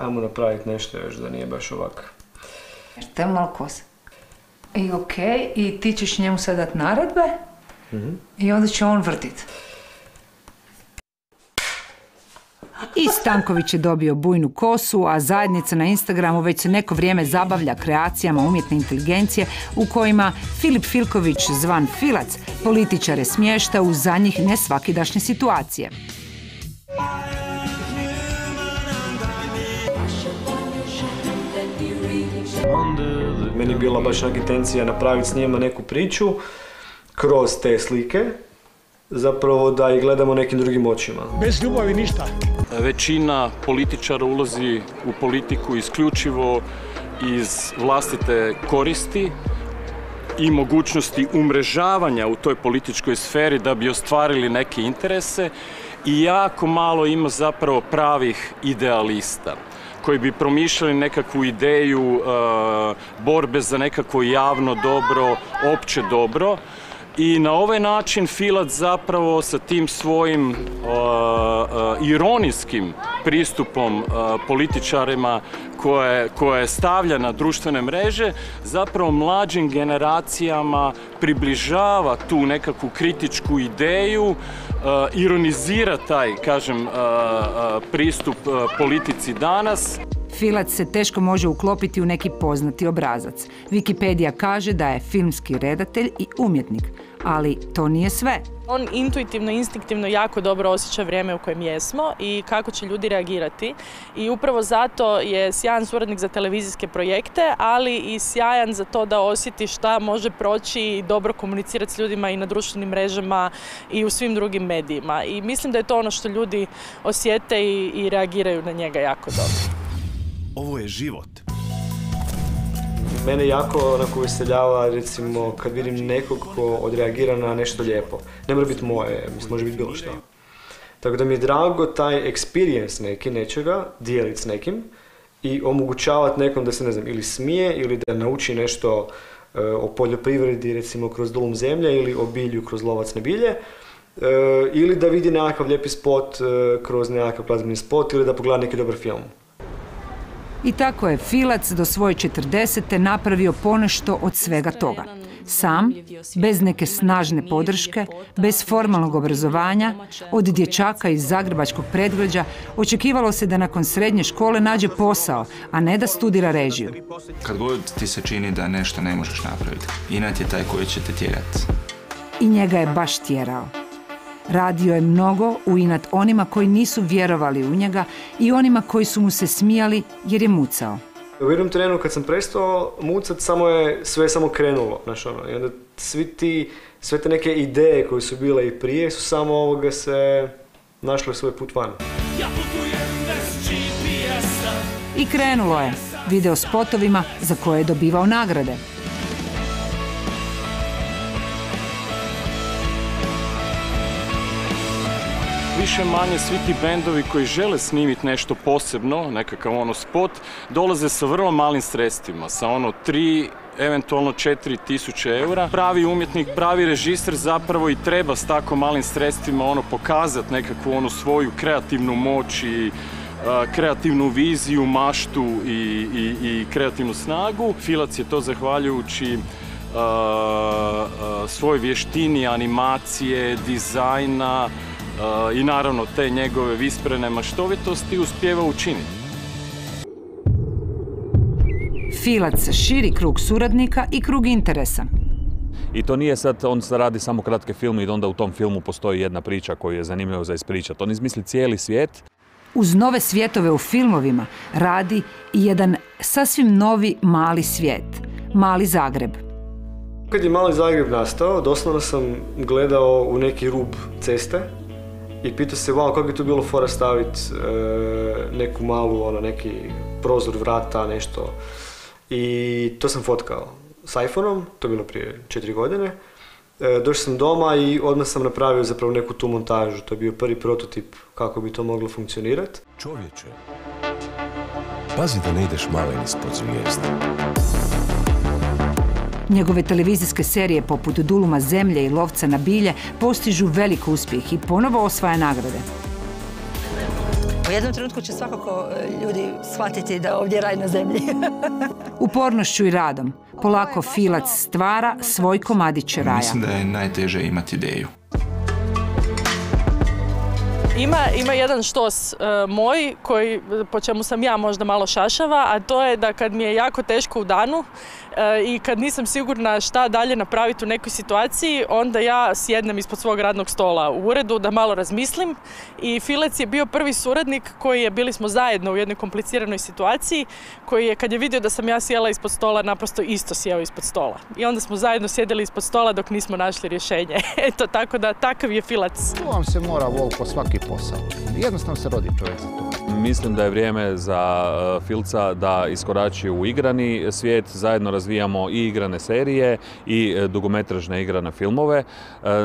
Ajmo napraviti nešto još da nije baš ovak. Te je malo kosa. I okej, i ti ćeš njemu sad dati naredbe i onda će on vrtit. I Stanković je dobio bujnu kosu, a zajednica na Instagramu već se neko vrijeme zabavlja kreacijama umjetne inteligencije u kojima Filip Filković, zvan Filac, političare smješta u za njih nesvakidašnje situacije. Meni je bila baš intencija napraviti s njima neku priču kroz te slike, zapravo da ih gledamo nekim drugim očima. Bez ljubavi ništa. Većina političara ulazi u politiku isključivo iz vlastite koristi i mogućnosti umrežavanja u toj političkoj sferi da bi ostvarili neke interese i jako malo ima zapravo pravih idealista koji bi promišljali nekakvu ideju borbe za nekakvo javno dobro, opće dobro. I na ovaj način Filac zapravo sa tim svojim ironijskim pristupom političarima koje stavlja na društvene mreže, zapravo mlađim generacijama približava tu nekakvu kritičku ideju, ironizira taj, kažem, pristup politici danas. Filac se teško može uklopiti u neki poznati obrazac. Wikipedia kaže da je filmski redatelj i umjetnik, ali to nije sve. On intuitivno, instinktivno jako dobro osjeća vrijeme u kojem jesmo i kako će ljudi reagirati. I upravo zato je sjajan suradnik za televizijske projekte, ali i sjajan za to da osjeti šta može proći i dobro komunicirati s ljudima i na društvenim mrežama i u svim drugim medijima. I mislim da je to ono što ljudi osjete i reagiraju na njega jako dobro. Ovo je život. Mene jako onako veseljava, recimo, kad vidim nekog ko odreagira na nešto lijepo. Ne mora biti moje, mislim, može biti bilo što. Tako da mi je drago taj experience nečega dijeliti s nekim i omogućavati nekom da se, ne znam, ili smije ili da nauči nešto o poljoprivredi, recimo, kroz Dulum zemlje ili o bilju kroz Lovacne bilje. Ili da vidi nekakav lijepi spot kroz nekakav glazbeni spot ili da pogleda neki dobar film. I tako je Filac do svoje 40. napravio ponešto od svega toga. Sam, bez neke snažne podrške, bez formalnog obrazovanja, od dječaka iz zagrebačkog predgrađa, očekivalo se da nakon srednje škole nađe posao, a ne da studira režiju. Kad god ti se čini da nešto ne možeš napraviti, inat je taj koji će te tjerati. I njega je baš tjerao. Radio je mnogo u inat onima koji nisu vjerovali u njega i onima koji su mu se smijali jer je mucao. U jednom trenu kad sam prestao mucat, sve je samo krenulo, znaš ono, i onda sve te neke ideje koje su bile i prije su samo ovoga se našle svoj put van. I krenulo je, video spotovima za koje je dobivao nagrade. Više manje svi ti bendovi koji žele snimiti nešto posebno, nekakav ono spot, dolaze sa vrlo malim sredstvima, sa ono 3, eventualno 4.000 eura. Pravi umjetnik, pravi režiser zapravo i treba s tako malim sredstvima ono pokazati nekakvu onu svoju kreativnu moć i kreativnu viziju, maštu i kreativnu snagu. Filac je to zahvaljujući svoj vještini, animacije, dizajna, i naravno te njegove visprene maštovitosti uspijeva učiniti. Filac širi krug suradnika i krug interesa. I to nije sad, on radi samo kratke filme i onda u tom filmu postoji jedna priča koju je zanimljivo za ispričati. On izmisli cijeli svijet. Uz nove svjetove u filmovima radi i jedan sasvim novi mali svijet. Mali Zagreb. Kad je Mali Zagreb nastao, doslovno sam gledao u neki rub ceste i pitao se, wow, kako bi to bilo fora staviti neku malu, neki prozor vrata, nešto. I to sam fotkao s iPhone-om, to je bilo prije 4 godine. Došao sam doma i odmah sam napravio zapravo neku tu montažu. To je bio prvi prototip kako bi to moglo funkcionirati. Čovječe, pazi da ne ideš malen ispod zvijezda. Njegove televizijske serije poput Duluma zemlje i Lovca na bilje postižu velik uspjeh i ponovo osvaja nagrade. U jednom trenutku će svakako ljudi shvatiti da ovdje je raj na zemlji. Upornošću i radom polako Filac stvara svoj komadić raja. Mislim da je najteže imati ideju. Ima jedan štos moj, po čemu sam ja možda malo šašava, a to je da kad mi je jako teško u danu i kad nisam sigurna šta dalje napraviti u nekoj situaciji, onda ja sjednem ispod svog radnog stola u uredu da malo razmislim. I Filac je bio prvi suradnik bili smo zajedno u jednoj kompliciranoj situaciji, koji je kad je vidio da sam ja sjela ispod stola, naprosto isto sjeo ispod stola. I onda smo zajedno sjedili ispod stola dok nismo našli rješenje. Eto, tako da takav je Filac. Tu vam se mora vol po svaki posao. Jednostavno se rodi čovjek za to. Mislim da je vrijeme za Filca da iskorači u igrani svijet. Zajedno razvijamo i igrane serije i dugometražne igrane filmove.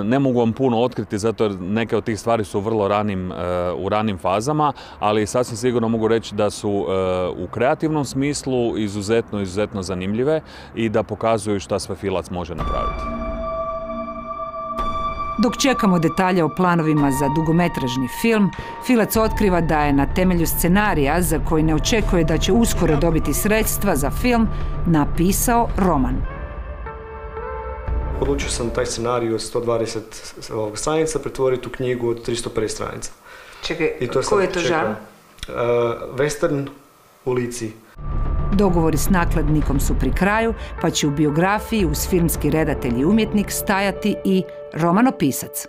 Ne mogu vam puno otkriti zato jer neke od tih stvari su vrlo u ranim fazama, ali sasvim sigurno mogu reći da su u kreativnom smislu izuzetno zanimljive i da pokazuju šta sve Filac može napraviti. Dok čekamo detalje o planovima za dugometražni film, Filac otkriva da je na temelju scenarija, za koji ne očekuje da će uskoro dobiti sredstva za film, napisao roman. Odlučio sam taj scenarij od 120 stranica pretvoriti u knjigu od 350 stranica. Čekaj, koji je to žanr? Western u Lici. Dogovori s nakladnikom su pri kraju, pa će u biografiji uz filmski redatelj i umjetnik stajati i romanopisac.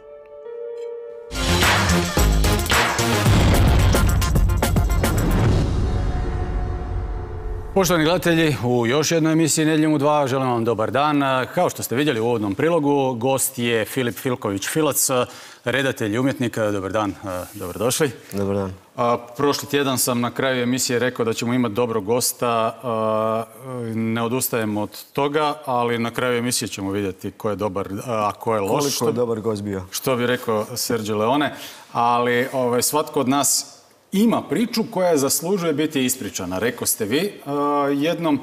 Poštovani gledatelji, u još jednoj emisiji Nedjeljom u 2 želim vam dobar dan. Kao što ste vidjeli u uvodnom prilogu, gost je Filip Filković Filac, redatelj i umjetnik. Dobar dan, dobrodošli. Dobar dan. Prošli tjedan sam na kraju emisije rekao da ćemo imati dobrog gosta. Ne odustajemo od toga, ali na kraju emisije ćemo vidjeti ko je dobar, a ko je loš. Koliko je dobar gost bio. Što bi rekao Sergio Leone. Ali svatko od nas ima priču koja zaslužuje biti ispričana. Rekao ste vi jednom.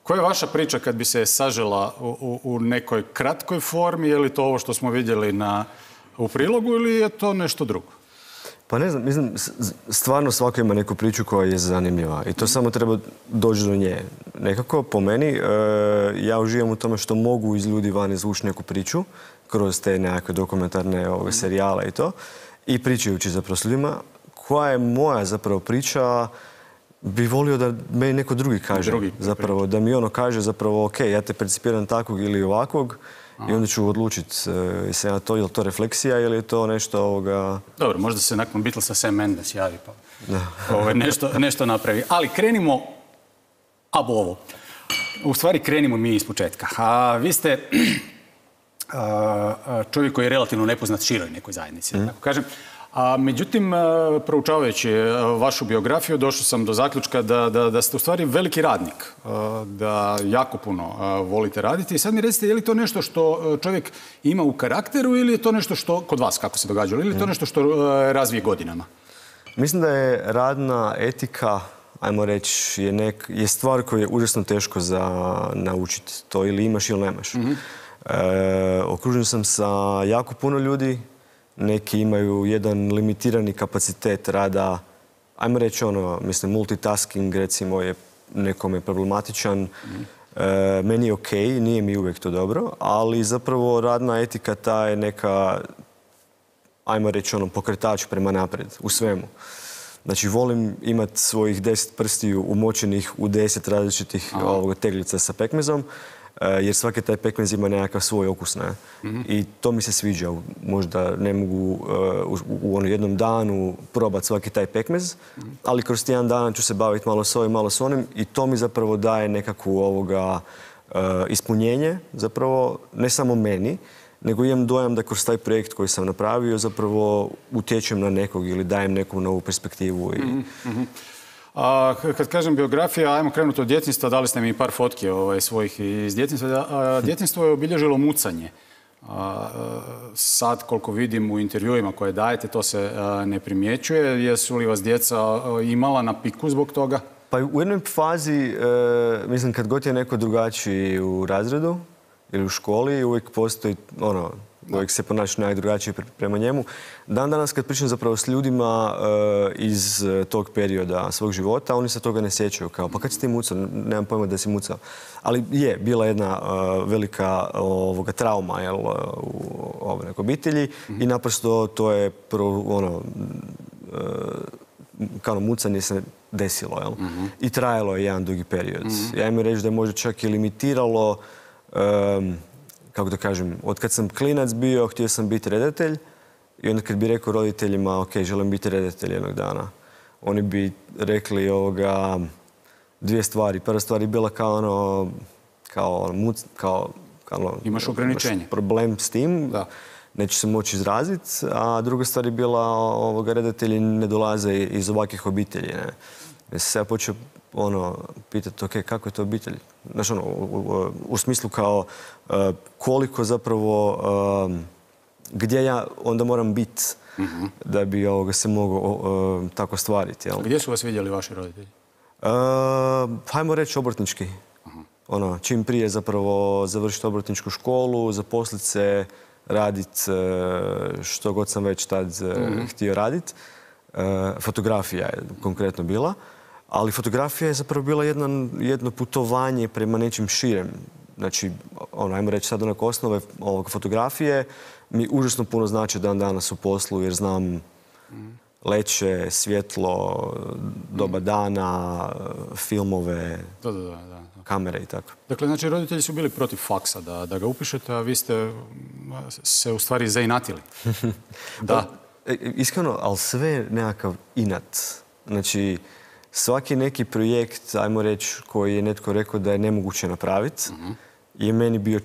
Koja je vaša priča kad bi se sažela u nekoj kratkoj formi? Je li to ovo što smo vidjeli u prilogu ili je to nešto drugo? Pa ne znam, mislim, stvarno svako ima neku priču koja je zanimljiva i to samo treba doći do nje. Nekako, po meni, ja uživam u tome što mogu iz ljudi van izvući neku priču kroz te nekakve dokumentarne serijale i to i pričajući zapravo s ljudima. Koja je moja zapravo priča, bi volio da meni neko drugi kaže. Zapravo, da mi ono kaže zapravo, ok, ja te percipiram takvog ili ovakvog i onda ću odlučiti je li to refleksija ili je to nešto ovoga... Dobro, možda se nakon Beatlesa Sam Mendes javi pa nešto napravi. Ali krenimo ovo. U stvari krenimo mi iz početka. Vi ste čovjek koji je relativno nepoznat široj nekoj zajednici, da tako kažem. Međutim, proučavajući vašu biografiju, došao sam do zaključka da ste u stvari veliki radnik, da jako puno volite raditi. I sad mi recite, je li to nešto što čovjek ima u karakteru ili je to nešto što, kod vas kako se događalo, ili je to nešto što razvije godinama? Mislim da je radna etika, ajmo reći, je stvar koju je užasno teško za naučiti. To ili imaš ili nemaš. Okružen sam sa jako puno ljudi. Neki imaju jedan limitirani kapacitet rada, ajmo reći multitasking recimo je nekome problematičan. Meni je okej, nije mi uvijek to dobro, ali zapravo radna etika ta je neka, ajmo reći pokretač prema naprijed u svemu. Znači volim imati svojih 10 prstiju umočenih u 10 različitih teglica sa pekmezom, jer svaki taj pekmez ima nekakav svoj okus. I to mi se sviđa. Možda ne mogu u jednom danu probati svaki taj pekmez, ali kroz jedan dan ću se baviti malo s ovim, malo s onim i to mi zapravo daje nekakvu ispunjenje, zapravo ne samo meni, nego imam dojam da kroz taj projekt koji sam napravio zapravo utječem na nekog ili dajem neku novu perspektivu. Kad kažem biografija, ajmo krenuti od djetinjstva, dali ste mi par fotki svojih iz djetinjstva. Djetinjstvo je obilježilo mucanje. Sad, koliko vidim u intervjuima koje dajete, to se ne primjećuje. Jesu li vas djeca imala na piku zbog toga? Pa u jednoj fazi, mislim, kad god je neko drugačiji u razredu ili u školi, uvijek postoji, uvijek se ponaša najdrugačije prema njemu. Dan danas kad pričam zapravo s ljudima iz tog perioda svog života, oni se toga ne sjećaju. Kao, pa kad si ti mucao? Nemam pojma da si mucao. Ali je, bila jedna velika trauma u nekoj obitelji i naprosto to je kao mucanje se desilo. Jel? I trajalo je jedan dugi period. Ja im reći da je možda čak i limitiralo, kako da kažem, od kad sam klinac bio, htio sam biti redatelj i onda kad bi rekao roditeljima, ok, želim biti redatelj jednog dana, oni bi rekli dvije stvari. Prva stvar je bila kao imaš ograničenje. Problem s tim, neće se moći izraziti, a druga stvar je bila redatelji ne dolaze iz ovakvih obitelji. Ne? Ja sam se počeo pitati, ok, kako je to obitelj? Znaš, u smislu kao koliko zapravo, gdje ja onda moram biti da bi se mogao tako stvariti. Jel? Gdje su vas vidjeli vaši roditelji? Hajmo reći obrtnički. Čim prije zapravo završiti obrtničku školu, zaposliti se, raditi što god sam već tad htio raditi. Fotografija je konkretno bila. Ali fotografija je zapravo bila jedno putovanje prema nečim širem. Znači, ajmo reći sad onako osnove fotografije mi užasno puno znači dan danas u poslu jer znam leće, svjetlo, doba dana, filmove, kamere i tako. Dakle, znači roditelji su bili protiv faksa da ga upišete, a vi ste se u stvari zainatili. Da. Iskreno, ali sve nekakav inat. Znači, svaki neki projekt, ajmo reći, koji je netko rekao da je nemoguće napraviti, je meni bio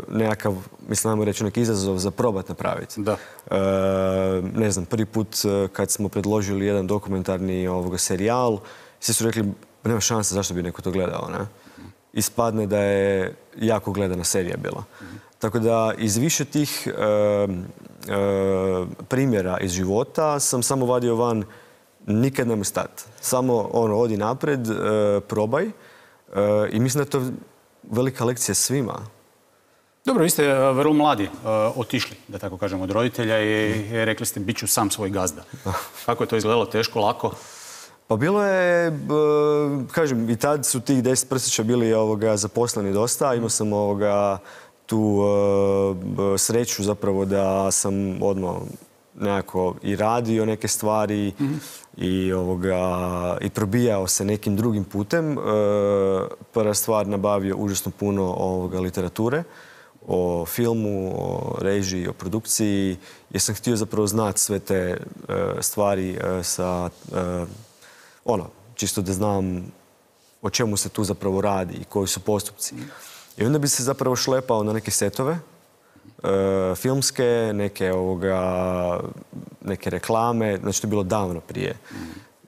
nekakav, mislim, ajmo reći, neki izazov za probat napraviti. Da. Ne znam, prvi put kad smo predložili jedan dokumentarni serijal, svi su rekli, nema šanse zašto bi neko to gledao, ne? Ispadne da je jako gledana serija bila. Tako da iz više tih primjera iz života sam samo vadio van nikad nemoj stati. Samo odi napred, probaj. I mislim da je to velika lekcija svima. Dobro, vi ste vrlo mladi otišli, da tako kažem, od roditelja i rekli ste bit ću sam svoj gazda. Kako je to izgledalo? Teško, lako? Pa bilo je, kažem, i tad su tih 10 prsića bili zaposleni dosta. Imao sam tu sreću zapravo da sam odmah nekako i radio neke stvari i probijao se nekim drugim putem. Prva stvar, nabavio užasno puno literature o filmu, o režiji, o produkciji, jer sam htio zapravo znati sve te stvari sa, čisto da znam o čemu se tu zapravo radi i koji su postupci. I onda bi se zapravo šlepao na neke setove, filmske, neke reklame, znači to je bilo davno prije.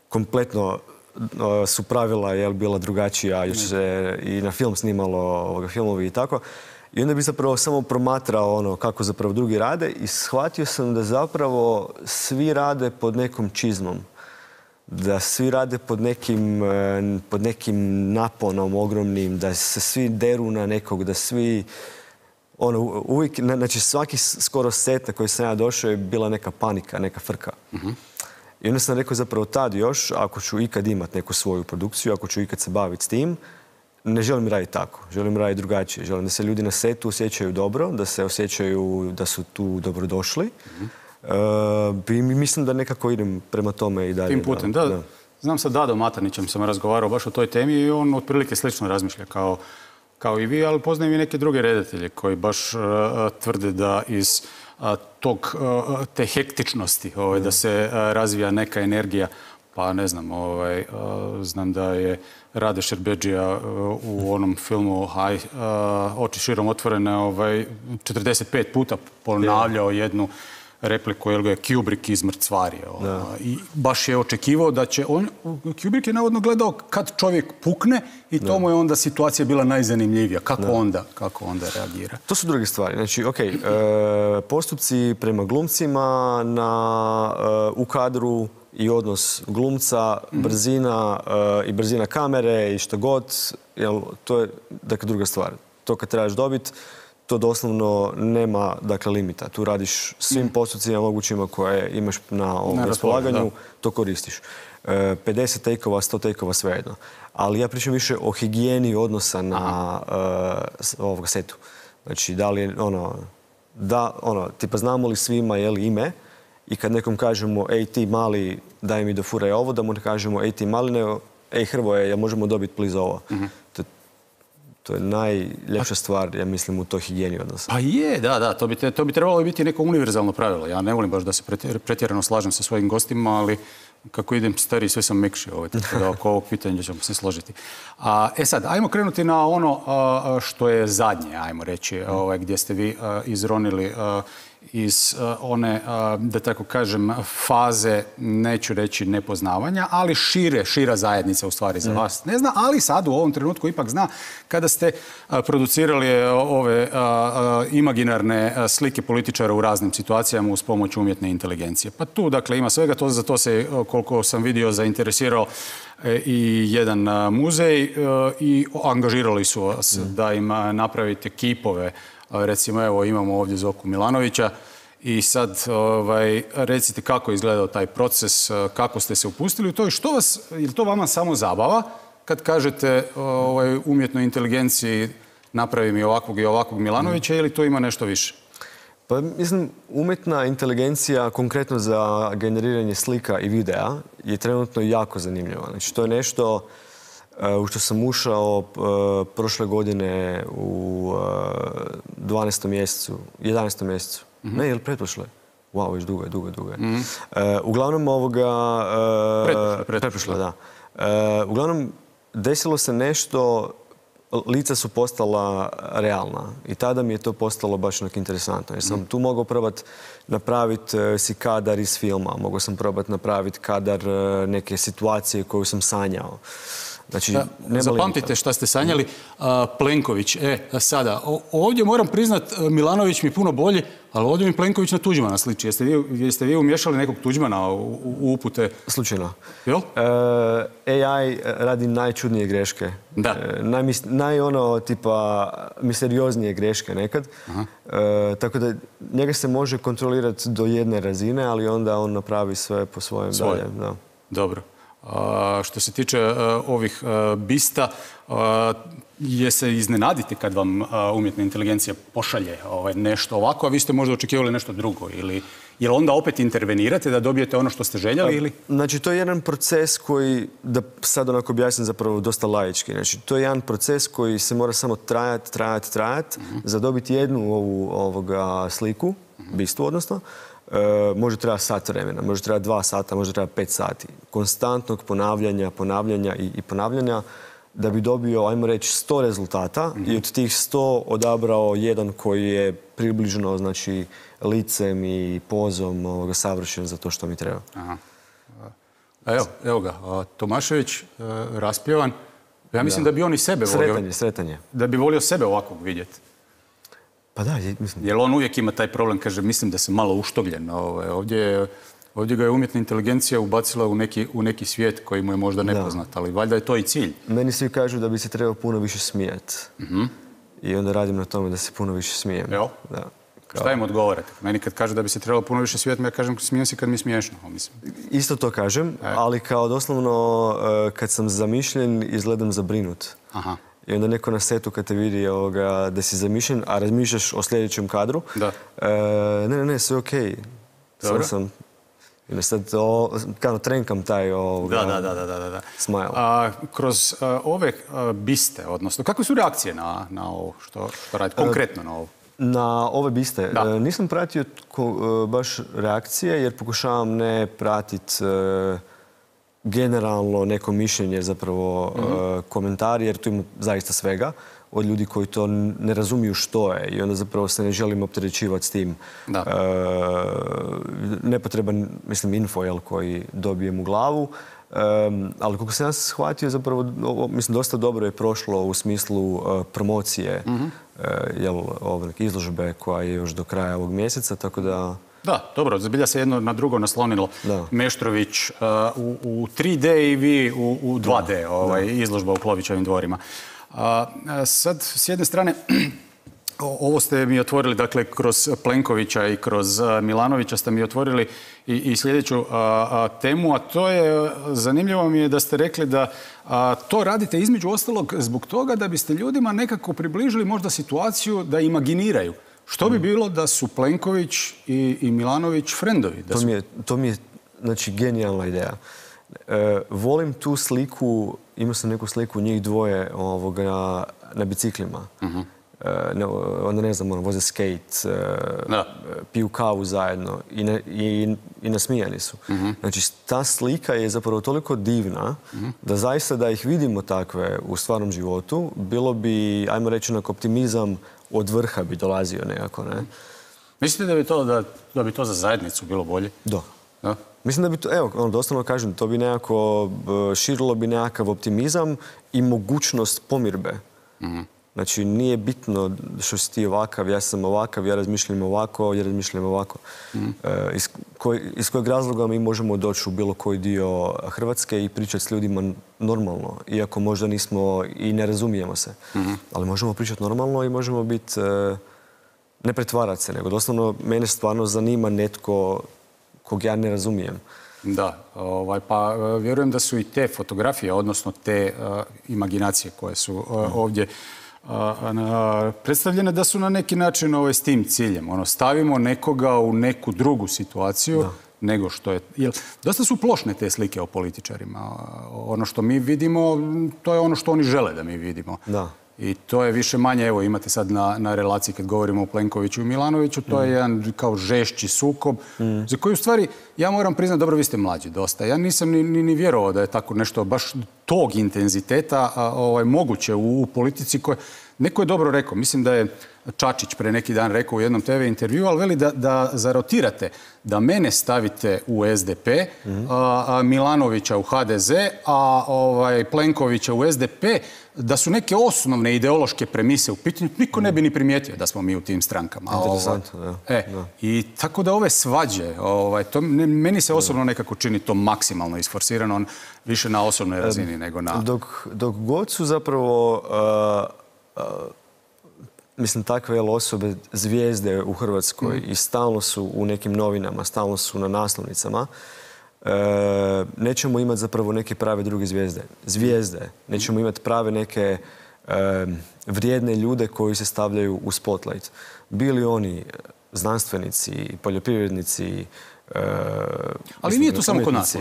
Kompletno su pravila bila drugačija, još se i na film snimalo filmovi i tako. I onda bi zapravo samo promatrao kako zapravo drugi rade i shvatio sam da zapravo svi rade pod nekom čizmom. Da svi rade pod nekim naponom ogromnim, da se svi deru na nekog, da svi uvijek, znači svaki skoro set na koji sam ja došao je bila neka panika, neka frka. I onda sam rekao zapravo tad još, ako ću ikad imati neku svoju produkciju, ako ću ikad se baviti s tim, ne želim raditi tako, želim raditi drugačije. Želim da se ljudi na setu osjećaju dobro, da se osjećaju da su tu dobrodošli. I mislim da nekako idem prema tome i dalje. Tim putem, da. Znam sa Dadom Matarnićem sam razgovarao baš o toj temi i on otprilike slično razmišlja kao i vi, ali poznajem i neke druge redatelje koji baš tvrde da iz te hektičnosti, da se razvija neka energija, pa ne znam, znam da je Rade Šerbedžija u onom filmu Oči širom otvorene 45 puta ponavljao jednu repliku, jer ga je Kubrick izmrcvario. I baš je očekivao da će on... Kubrick je navodno gledao kad čovjek pukne i to mu je onda situacija bila najzanimljivija. Kako onda reagira? To su druge stvari. Znači, postupci prema glumcima u kadru, i odnos glumca, brzina i brzina kamere i što god, jel, to je dakle, druga stvar. To kad trebaš dobiti, to doslovno nema dakle, limita. Tu radiš svim postupcima mogućima koje imaš na ovom raspolaganju, to koristiš. 50 take-ova, 100 take-ova, svejedno. Ali ja pričam više o higijeni odnosa na ovog setu. Znači, da li je tipa znamo li svima je li ime i kad nekom kažemo ej ti mali daj mi dofuraj ovo, da mu ne kažemo ej ti mali, nego ej Hrvoje, ja možemo dobiti please ovo. To je najljepša stvar, ja mislim, u toj higijeni odnosa. Pa je, da, to bi trebalo biti neko univerzalno pravilo. Ja ne volim baš da se pretjerano slažem sa svojim gostima, ali kako idem stariji, sve sam mekši, tako da oko ovog pitanja ćemo se složiti. Sad, ajmo krenuti na ono što je zadnje, ajmo reći, gdje ste vi izronili iz one, da tako kažem, faze, neću reći nepoznavanja, ali šira zajednica u stvari za vas ne zna, ali sad u ovom trenutku ipak zna kada ste producirali ove imaginarne slike političara u raznim situacijama uz pomoć umjetne inteligencije. Pa tu, dakle, ima svega, za to se, koliko sam vidio, zainteresirao i jedan muzej i angažirali su vas da im napravite kipove. Recimo, evo, imamo ovdje Zoku Milanovića i sad recite kako je izgledao taj proces, kako ste se upustili u to i što vas, je li to vama samo zabava kad kažete umjetnoj inteligenciji napravi mi ovakvog i ovakvog Milanovića ili to ima nešto više? Pa mislim, umjetna inteligencija konkretno za generiranje slika i videa je trenutno jako zanimljiva. Znači, to je nešto u što sam ušao prošle godine u 12. mjesecu, 11. mjesecu. Ne, je li pretprošle? Wow, već dugo je. Uglavnom ovoga... Pretprošle, da. Uglavnom, desilo se nešto, lica su postala realna i tada mi je to postalo baš onak interesantno. Jer sam tu mogao probati napraviti si kadar iz filma, mogao sam probati napraviti kadar neke situacije koju sam sanjao. Znači, zapamtite šta ste sanjali. Plenković, sada, ovdje moram priznat, Milanović mi puno bolji, ali ovdje mi Plenković na Tuđmana sliči. Jeste vi umješali nekog Tuđmana u upute? Slučajno. Jel? AI radi najčudnije greške. Da. Tipa misterioznije greške nekad. Tako da njega se može kontrolirati do jedne razine, ali onda on napravi sve po svojem dalje. Dobro. Što se tiče ovih bista, je se iznenaditi kad vam umjetna inteligencija pošalje nešto ovako, a vi ste možda očekivali nešto drugo? Ili jel onda opet intervenirate da dobijete ono što ste željeli? Ili? Znači, to je jedan proces koji, da sad onako objasnim zapravo dosta laički, znači, to je jedan proces koji se mora samo trajati, za dobiti jednu ovoga sliku, bistu odnosno, može trebati sat vremena, može trebati 2 sata, može trebati 5 sati. Konstantnog ponavljanja i ponavljanja da bi dobio, ajmo reći, 100 rezultata i od tih 100 odabrao jedan koji je približno, znači, licem i pozom savršen za to što mi treba. Evo ga, Tomašević, raspjevan. Ja mislim da bi on i sebe volio. Sretanje. Da bi volio sebe ovakvog vidjeti. Pa da, mislim. Jer on uvijek ima taj problem, kaže, mislim da sam malo uštogljen. Ovdje ga je umjetna inteligencija ubacila u neki svijet koji mu je možda nepoznat, ali valjda je to i cilj. Meni svi kažu da bi se trebao puno više smijati. I onda radim na tome da se puno više smijem. Evo? Šta im odgovarate? Meni kad kaže da bi se trebalo puno više smijati, ja kažem smijem se kad mi je smiješno. Isto to kažem, ali kao doslovno kad sam zamišljen izgledam zabrinut. I onda neko na setu kad te vidi da si zamišljen, a razmišljaš o sljedećem kadru, ne, sve okej. Dobro. Sam sad trenkam taj smile. Kroz ove biste, odnosno, kakve su reakcije na ovo što radite, konkretno na ovo? Na ove biste? Nisam pratio baš reakcije jer pokušavam ne pratiti generalno neko mišljenje, zapravo komentari, jer tu ima zaista svega od ljudi koji to ne razumiju što je i onda zapravo se ne želim opterećivati s tim. Nepotreban, mislim, info koji dobijem u glavu, ali koliko sam ja shvatio, zapravo, mislim, dosta dobro je prošlo u smislu promocije izložbe koja je još do kraja ovog mjeseca, tako da... Da, dobro, zbilja se jedno na drugo naslonilo. Meštrović u 3D i vi u 2D, izložba u Klovićevim dvorima. Sad, s jedne strane, ovo ste mi otvorili, dakle, kroz Plenkovića i kroz Milanovića ste mi otvorili i sljedeću temu, a to je, zanimljivo mi je da ste rekli da to radite između ostalog zbog toga da biste ljudima nekako približili možda situaciju da imaginiraju. Što bi bilo da su Plenković i Milanović frendovi? To mi je, znači, genijalna ideja. Volim tu sliku, imao sam neku sliku njih dvoje na biciklima. Onda ne znam, voze skate, piju kavu zajedno i nasmijani su. Znači, ta slika je zapravo toliko divna da zaista da ih vidimo takve u stvarnom životu, bilo bi, ajmo reći, optimizam od vrha bi dolazio nekako, ne? Mislite da bi to za zajednicu bilo bolje? Da. Mislim da bi to, evo, doslovno kažem, to bi nekako širilo bi nekakav optimizam i mogućnost pomirbe. Znači, nije bitno što si ti ovakav, ja sam ovakav, ja razmišljam ovako, ja razmišljam ovako. Iz kojeg razloga mi možemo doći u bilo koji dio Hrvatske i pričati s ljudima normalno, iako možda nismo i ne razumijemo se. Ali možemo pričati normalno i možemo biti, ne pretvarati se, nego doslovno mene stvarno zanima netko kog ja ne razumijem. Da, pa vjerujem da su i te fotografije, odnosno te imaginacije koje su ovdje predstavljene, da su na neki način s tim ciljem. Stavimo nekoga u neku drugu situaciju nego što je... Dosta su plošne te slike o političarima. Ono što mi vidimo, to je ono što oni žele da mi vidimo. I to je više manje, evo imate sad na relaciji kad govorimo o Plenkoviću i Milanoviću, to je jedan kao žešći sukob, za koji u stvari, ja moram priznati, dobro, vi ste mlađi dosta. Ja nisam ni vjerovao da je tako nešto baš tog intenziteta moguće u politici koje... Neko je dobro rekao, mislim da je Čačić pre neki dan rekao u jednom TV intervju, ali veli da zarotirate, da mene stavite u SDP, Milanovića u HDZ, a Plenkovića u SDP, da su neke osnovne ideološke premise u pitanju, niko ne bi ni primijetio da smo mi u tim strankama. Interesantno, da. I tako da ove svađe, meni se osobno nekako čini to maksimalno isforsirano, više na osobnoj razini nego na... Dok god su zapravo... mislim, takve osobe, zvijezde u Hrvatskoj i stalno su u nekim novinama, stalno su na naslovnicama, nećemo imati zapravo neke prave druge zvijezde. Nećemo imati prave neke vrijedne ljude koji se stavljaju u spotlight. Bili oni znanstvenici, poljoprivrednici, ali nije to samo kod nas.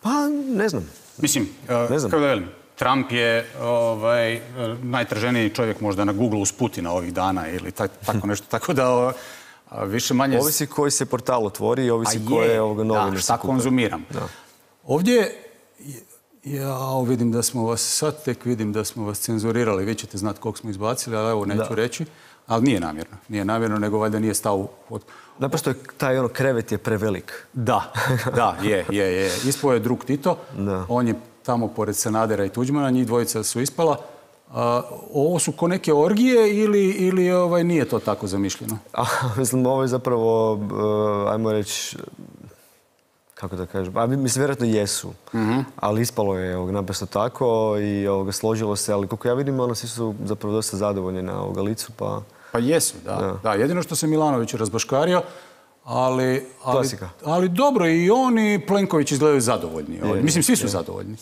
Pa, ne znam. Mislim, kako da velim, Trump je najtraženiji čovjek možda na Google uz Putina ovih dana ili tako nešto. Tako da više manje... Ovisi koji se portal otvori i ovisi koje novine se kupe. Šta konzumiram. Ovdje, ja vidim da smo vas, sad tek vidim da smo vas cenzurirali. Vi ćete znati koliko smo izbacili, ali evo neću reći. Ali nije namjerno. Nije namjerno, nego valjda nije stao od... Naprosto taj krevet je prevelik. Da, je. Ispao je drug Tito. On je tamo pored Sanadera i Tuđmana, njih dvojica su ispala. Ovo su ko neke orgije ili nije to tako zamišljeno? Mislim, ovo je zapravo, ajmo reći, kako da kažem, mislim, vjerojatno jesu, ali ispalo je naprosto tako i složilo se, ali koliko ja vidim, svi su zapravo dosta zadovoljni na licu, pa... Pa jesu, da. Jedino što se Milanović razbaškario, ali dobro, i on i Plenković izgledaju zadovoljni. Mislim, svi su zadovoljni.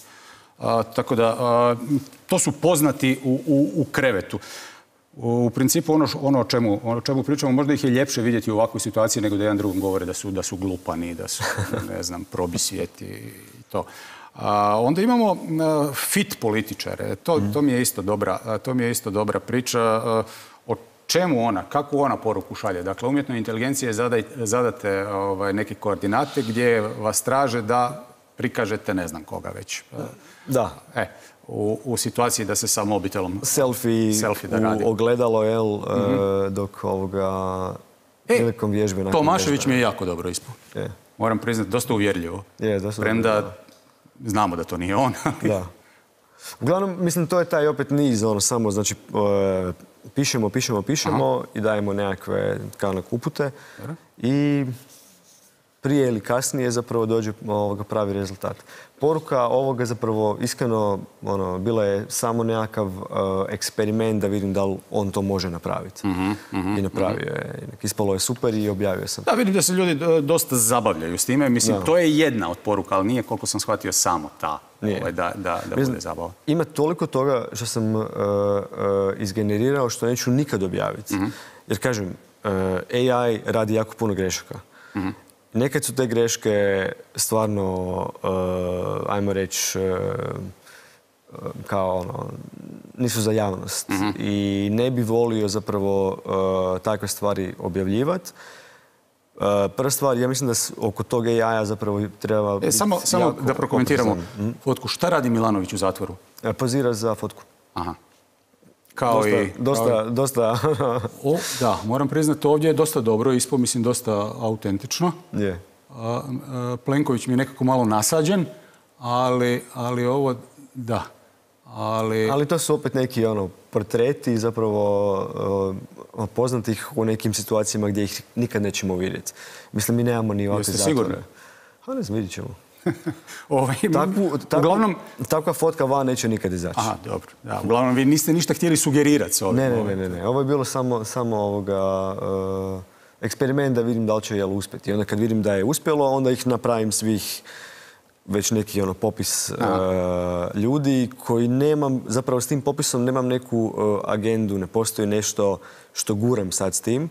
Tako da, to su poznati u krevetu. U principu, ono o čemu pričamo, možda ih je ljepše vidjeti u ovakvoj situaciji nego da jedan drugom govore da su glupani, da su, ne znam, probisvijeti i to. Onda imamo fit političare. To mi je isto dobra priča. Kakvu ona poruku šalje? Dakle, umjetnoj inteligenciji zadate neke koordinate gdje vas traže da prikažete ne znam koga već. Da. U situaciji da se sa mobitelom selfie da radi. U ogledalo, dok prilikom vježbe... Tomašević mi je jako dobro ispao. Moram priznati, dosta uvjerljivo. Premda znamo da to nije on. Da. Uglavnom, mislim, to je taj opet niz, samo, znači, pišemo i dajemo nekakve upute i prije ili kasnije zapravo dođe pravi rezultat. Poruka ovoga zapravo iskreno bila je samo nekakav eksperiment da vidim da li on to može napraviti. I napravio je. Ispalo je super i objavio sam. Da, vidim da se ljudi dosta zabavljaju s time. Mislim, to je jedna od poruka, ali nije, koliko sam shvatio, samo ta da bude zabava. Ima toliko toga što sam izgenerirao što neću nikad objaviti. Jer kažem, AI radi jako puno grešaka. Nekad su te greške stvarno, ajmo reći, kao nisu za javnost. I ne bi volio zapravo takve stvari objavljivati. Prva stvar, ja mislim da oko tog AI-a zapravo treba... Samo da prokomentiramo fotku. Šta radi Milanović u zatvoru? Pozira za fotku. Aha. Kao i... Dosta... Da, moram priznati, ovdje je dosta dobro, mislim dosta autentično. Je. Plenković mi je nekako malo nasađen, ali ovo, da. Ali to su opet neki portreti zapravo poznatih u nekim situacijama gdje ih nikad nećemo vidjeti. Mislim, mi nemamo ni ovakve zatvore. Jeste sigurni? A ne znam, vidit ćemo. Uglavnom... Takva fotka van neće nikad izaći. Aha, dobro. Da, uglavnom, vi niste ništa htjeli sugerirati s ovim. Ne. Ovo je bilo samo eksperiment da vidim da li će uspjeti. I onda kad vidim da je uspjelo, onda ih napravim svih već neki popis ljudi koji nemam, zapravo s tim popisom nemam neku agendu, ne postoji nešto što guram sad s tim,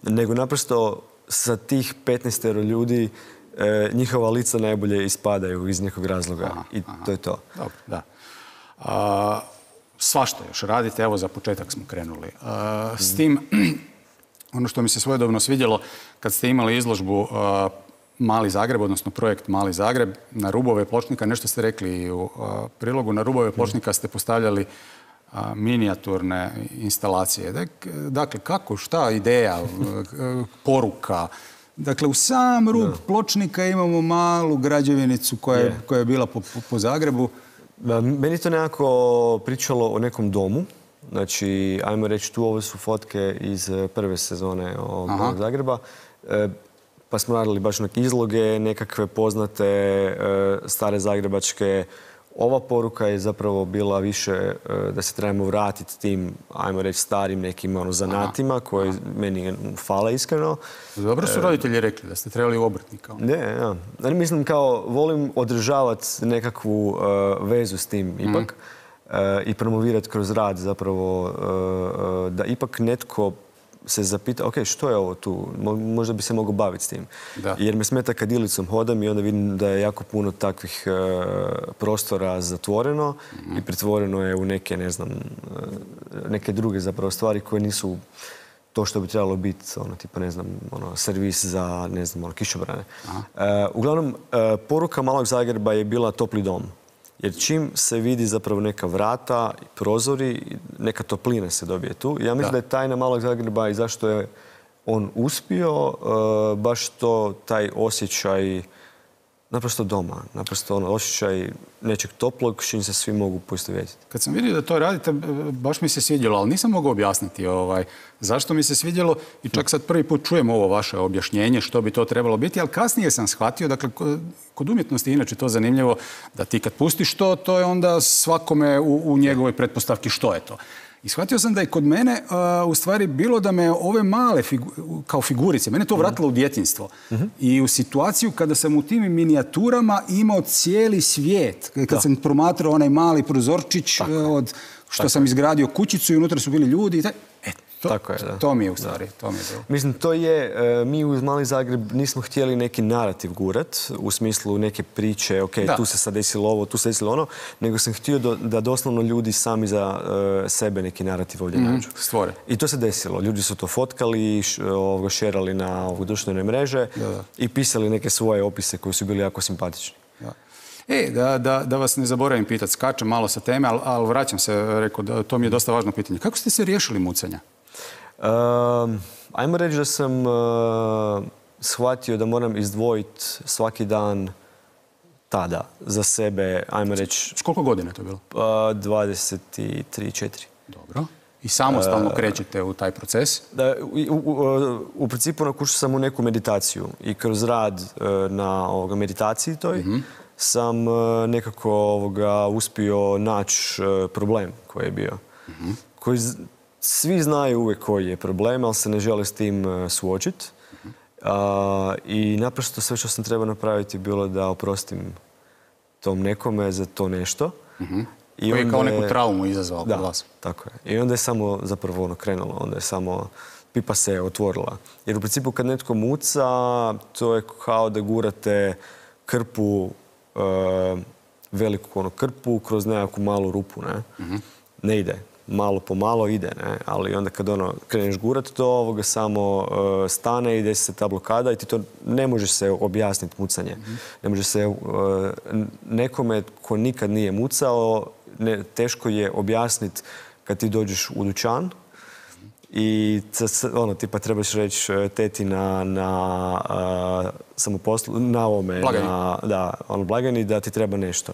nego naprosto sa tih 15 ljudi njihova lica najbolje ispadaju iz nekog razloga. I to je to. Dobro, da. Svašta još radite, evo za početak smo krenuli. S tim, ono što mi se svojedobno svidjelo, kad ste imali izložbu Mali Zagreb, odnosno projekt Mali Zagreb, na rubove pločnika, nešto ste rekli u prilogu, na rubove pločnika ste postavljali minijaturne instalacije. Dakle, kako, šta, ideja, poruka? Dakle, u sam rub pločnika imamo malu građevinicu koja je bila po Zagrebu. Meni to nekako pričalo o nekom domu. Znači, ajmo reći, ovo su fotke iz prve sezone ovog Zagreba. Pa smo radili baš neke izloge, nekakve poznate stare zagrebačke. Ova poruka je zapravo bila više da se trebamo vratiti tim, ajmo reći, starim nekim zanatima koji meni fale iskreno. Dobro su roditelji rekli da ste trebali u obrtnika. Ne, mislim kao volim održavati nekakvu vezu s tim ipak i promovirati kroz rad zapravo da ipak netko se zapita, ok, što je ovo tu? Možda bi se mogao baviti s tim. Jer me smeta kad Ilicom hodam i onda vidim da je jako puno takvih prostora zatvoreno i pretvoreno je u neke, ne znam, neke druge zapravo stvari koje nisu to što bi trebalo biti, tipa, ne znam, servis za, ne znam, kišobrane. Uglavnom, poruka Malog Zagreba je bila topli dom. Jer čim se vidi zapravo neka vrata, prozori, neka toplina se dobije tu. Ja mislim da je tajna Malog Zagreba i zašto je on uspio, baš taj osjećaj naprosto doma, naprosto osjećaj nečeg toplog s čim se svi mogu poistovjetiti. Kad sam vidio da to radite, baš mi se svidjelo, ali nisam mogao objasniti zašto mi se svidjelo i čak sad prvi put čujem ovo vaše objašnjenje što bi to trebalo biti, ali kasnije sam shvatio, dakle, kod umjetnosti inače to zanimljivo, da ti kad pustiš to je onda svakome u njegovoj pretpostavki što je to. I shvatio sam da je kod mene u stvari bilo da me ove male kao figurice, mene to vratilo u djetinjstvo. I u situaciju kada sam u tim minijaturama imao cijeli svijet. Kad sam promatrao onaj mali prozorčić od što sam izgradio kućicu i unutra su bili ljudi. To mi je u stvari, to mi je bilo. Mislim, to je, mi uz Mali Zagreb nismo htjeli neki narativ gurat, u smislu neke priče, ok, tu se sad desilo ovo, tu se desilo ono, nego sam htio da doslovno ljudi sami za sebe neki narativ ovdje nađu. Stvore. I to se desilo. Ljudi su to fotkali, šerali na društvene mreže i pisali neke svoje opise koji su bili jako simpatični. Da vas ne zaboravim pitati, skačem malo sa teme, ali vraćam se, rekao, to mi je dosta važno pitanje. Kako ste se riješili mucanja? Ajmo reći da sam shvatio da moram izdvojiti svaki dan tada za sebe, ajmo reći... S koliko godina je to bilo? 23-4. Dobro. I samostalno krećete u taj proces? U principu nakušao sam u neku meditaciju i kroz rad na meditaciji toj sam nekako uspio naći problem koji je bio. Koji svi znaju uvijek koji je problem, ali se ne žele s tim suočiti. I naprosto sve što sam trebao napraviti bilo da oprostim tom nekome za to nešto. Koji je kao neku traumu izazvao kod vas. Tako je. I onda je samo zapravo krenulo. Onda je samo pipa se otvorila. Jer u principu kad netko muca, to je kao da gurate krpu, veliku krpu kroz nekakvu malu rupu. Ne ide. Malo po malo ide, ali onda kad kreneš gurat to, samo stane i desi se ta blokada i ti to ne može se objasniti mucanje. Ne može se nekome ko nikad nije mucao, teško je objasniti kad ti dođeš u dućan i tipa trebaš reći teti na samoposlu, na ovome, na blagajni da ti treba nešto.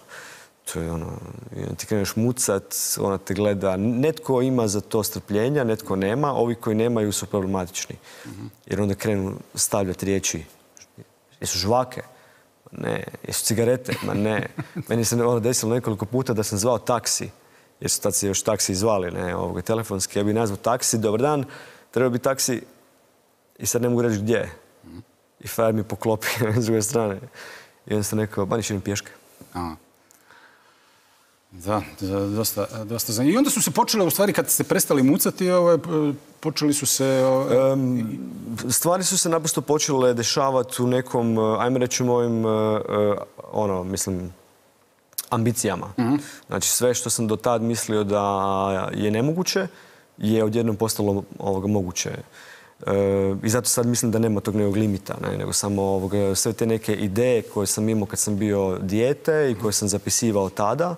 To je ti kreneš mucat, ona te gleda. Netko ima za to strpljenja, netko nema. Ovi koji nemaju su problematični. Jer onda krenu stavljati riječi. Jesu žvake? Ne. Jesu cigarete? Ma ne. Meni se desilo nekoliko puta da sam zvao taksi. Jer su tad se još taksi zvali, telefonski. Ja bih nazvao taksi, dobar dan, treba bi taksi i sad ne mogu reći gdje. I frajer mi poklopi s druge strane. I onda sam rekao, ba niš idem pješke. Da, dosta zanimljivo. I onda su se počele, u stvari, kad ste prestali mucati, počeli su se... Stvari su se naprosto počele dešavati u nekom, ajmo reći, mojim, ambicijama. Znači, sve što sam do tad mislio da je nemoguće, je odjednom postalo moguće. I zato sad mislim da nema tog nekog limita, nego samo sve te neke ideje koje sam imao kad sam bio dijete i koje sam zapisivao tada,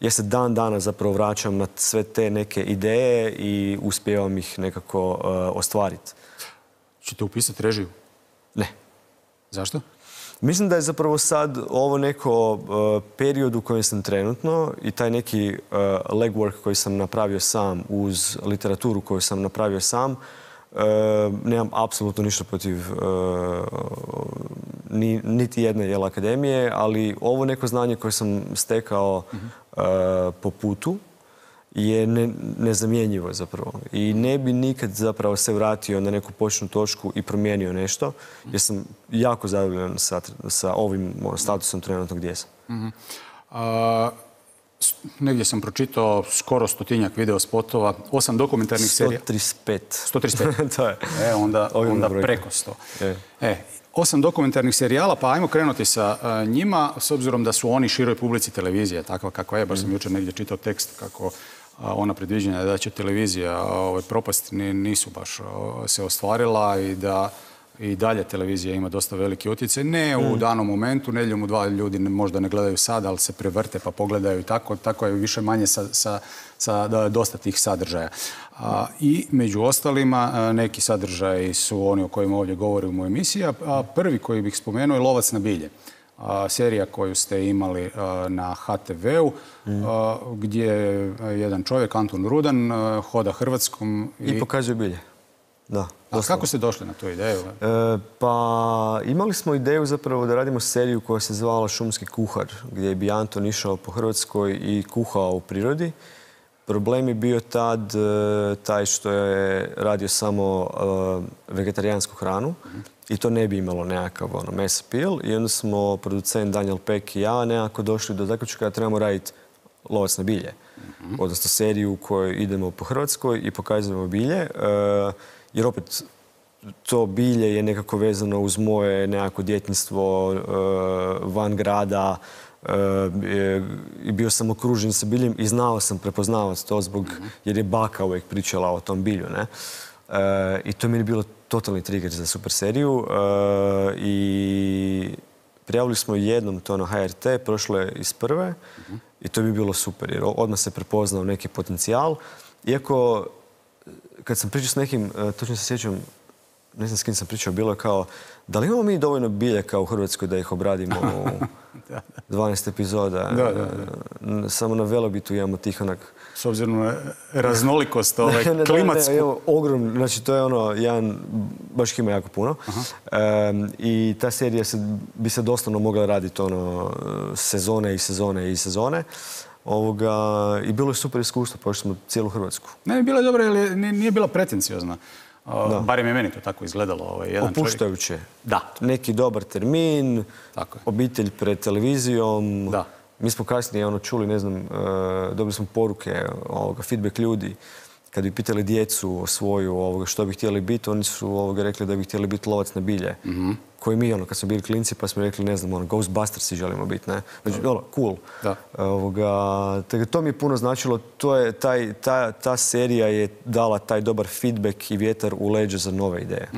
ja se dan danas zapravo vraćam na sve te neke ideje i uspijevam ih nekako ostvariti. Čete upisati režiju? Ne. Zašto? Mislim da je zapravo sad ovo neko period u kojem sam trenutno i taj neki legwork koji sam napravio sam uz literaturu koju sam napravio sam, nemam apsolutno ništa protiv niti jedne akademije, ali ovo neko znanje koje sam stekao po putu je nezamjenjivo zapravo. I ne bi nikad zapravo se vratio na neku početnu točku i promijenio nešto, jer sam jako zadovoljan sa ovim statusom trenutno gdje sam. Negdje sam pročitao skoro 100-tinjak video spotova, 8 dokumentarnih serija. 135. 135. To je. Onda preko 100. 8 dokumentarnih serijala, pa ajmo krenuti sa njima, s obzirom da su oni široj publici televizije, takva kakva je. Baš sam jučer negdje čitao tekst kako ona predviđanja da će televizija propasti nisu baš se ostvarila i da i dalje televizija ima dosta veliki utjecaj. Ne u danom momentu, nedjeljom u 2 ljudi možda ne gledaju sad, ali se prevrte pa pogledaju i tako je više manje sa dosta tih sadržaja. I među ostalima neki sadržaji su oni o kojima ovdje govorim u emisiji, a prvi koji bih spomenuo je Lovac na bilje. Serija koju ste imali na HTV-u, gdje jedan čovjek, Antun Rudan, hoda Hrvatskom i pokazuje bilje. Da. A kako ste došli na tu ideju? Pa imali smo ideju zapravo da radimo seriju koja se zvala Šumski kuhar, gdje bi Anton išao po Hrvatskoj i kuhao u prirodi. Problem je bio tad taj što je radio samo vegetarijansku hranu i to ne bi imalo nekakav mass appeal. I onda smo producent Daniel Peck i ja nekako došli do zaključka da trebamo raditi Lovac na bilje. Odnosno seriju u kojoj idemo po Hrvatskoj i pokazujemo bilje. Jer opet to bilje je nekako vezano uz moje nekako djetinjstvo van grada i bio sam okružen sa biljem i znao sam prepoznavati to jer je baka uvijek pričala o tom bilju. I to mi je bilo totalni trigger za super seriju i prijavili smo jednom to na HRT, prošlo je iz prve i to bi bilo super jer odmah se prepoznao neki potencijal. Iako kad sam pričao s nekim, točno se sjećam, ne znam s kim sam pričao, bilo je kao, da li imamo mi dovoljno biljaka u Hrvatskoj da ih obradimo 12 epizoda. Samo na Velobitu imamo tih onak... S obzirom na raznolikost klimatsku. Ogromno, znači to je ono, jedan, baš ima jako puno. I ta serija bi se doslovno mogla raditi sezone i sezone i sezone. I bilo je super iskustvo, prošli smo cijelu Hrvatsku. Ne, bila je dobra, jer nije bila pretenciozna. Barem je meni to tako izgledalo. Opuštajuće. Da. Neki dobar termin, obitelj pred televizijom. Da. Mi smo kasnije čuli, ne znam, dobili smo poruke, feedback ljudi. Kad bi pitali djecu svoju što bi htjeli biti, oni su rekli da bi htjeli biti lovac na bilje. Koji mi, kad smo bili klinci, pa smo rekli, ne znam, Ghostbustersi želimo biti, ne? Znači, cool. To mi je puno značilo. Ta serija je dala taj dobar feedback i vjetar u leđa za nove ideje.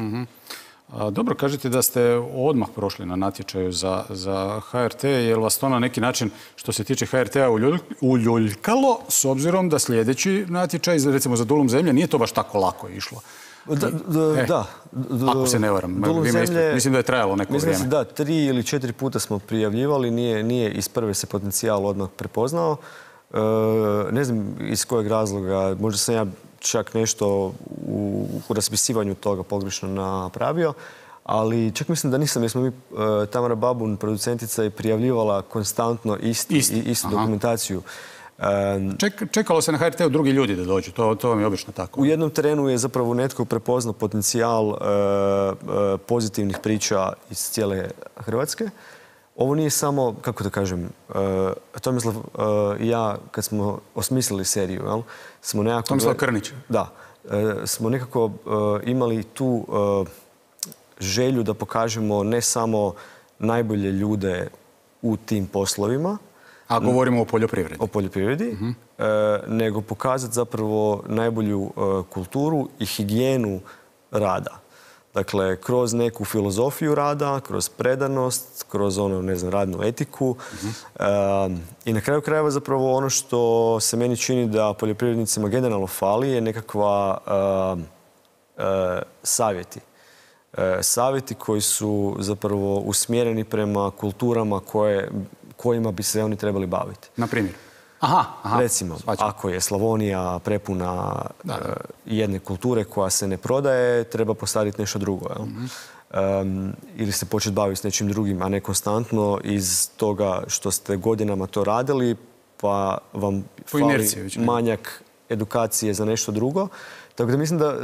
Dobro, kažete da ste odmah prošli na natječaju za HRT, je li vas to na neki način, što se tiče HRT-a, uljuljkalo, s obzirom da sljedeći natječaj, recimo za Dulum zemlje, nije to baš tako lako išlo? Da. Ako se ne varam. Mislim da je trajalo neko vrijeme. Da, 3 ili 4 puta smo prijavljivali, nije iz prve se potencijal odmah prepoznao. Ne znam iz kojeg razloga, možda sam ja čak nešto u raspisivanju toga pogrešno napravio, ali čak mislim da nisam, jer smo mi, Tamara Babun, producentica, je prijavljivala konstantno istu dokumentaciju. Čekalo se na HRT-u drugi ljudi da dođu, to vam je obično tako. U jednom terenu je zapravo netko prepoznao potencijal pozitivnih priča iz cijele Hrvatske. Ovo nije samo, kako da kažem, Tomislav i ja, kad smo osmislili seriju, smo nekako... Tomislav Krnić. Da. Smo nekako imali tu želju da pokažemo ne samo najbolje ljude u tim poslovima. A govorimo o poljoprivredi. O poljoprivredi, nego pokazati zapravo najbolju kulturu i higijenu rada. Dakle, kroz neku filozofiju rada, kroz predanost, kroz radnu etiku. I na kraju krajeva zapravo ono što se meni čini da poljoprivrednicima generalno fali je nekakva savjeti. Savjeti koji su zapravo usmjereni prema kulturama kojima bi se oni trebali baviti. Na primjer? Recimo, ako je Slavonija prepuna jedne kulture koja se ne prodaje, treba postaviti nešto drugo. Ili se početi baviti s nečim drugim, a ne konstantno iz toga što ste godinama to radili, pa vam fali manjak edukacije za nešto drugo. Tako da mislim da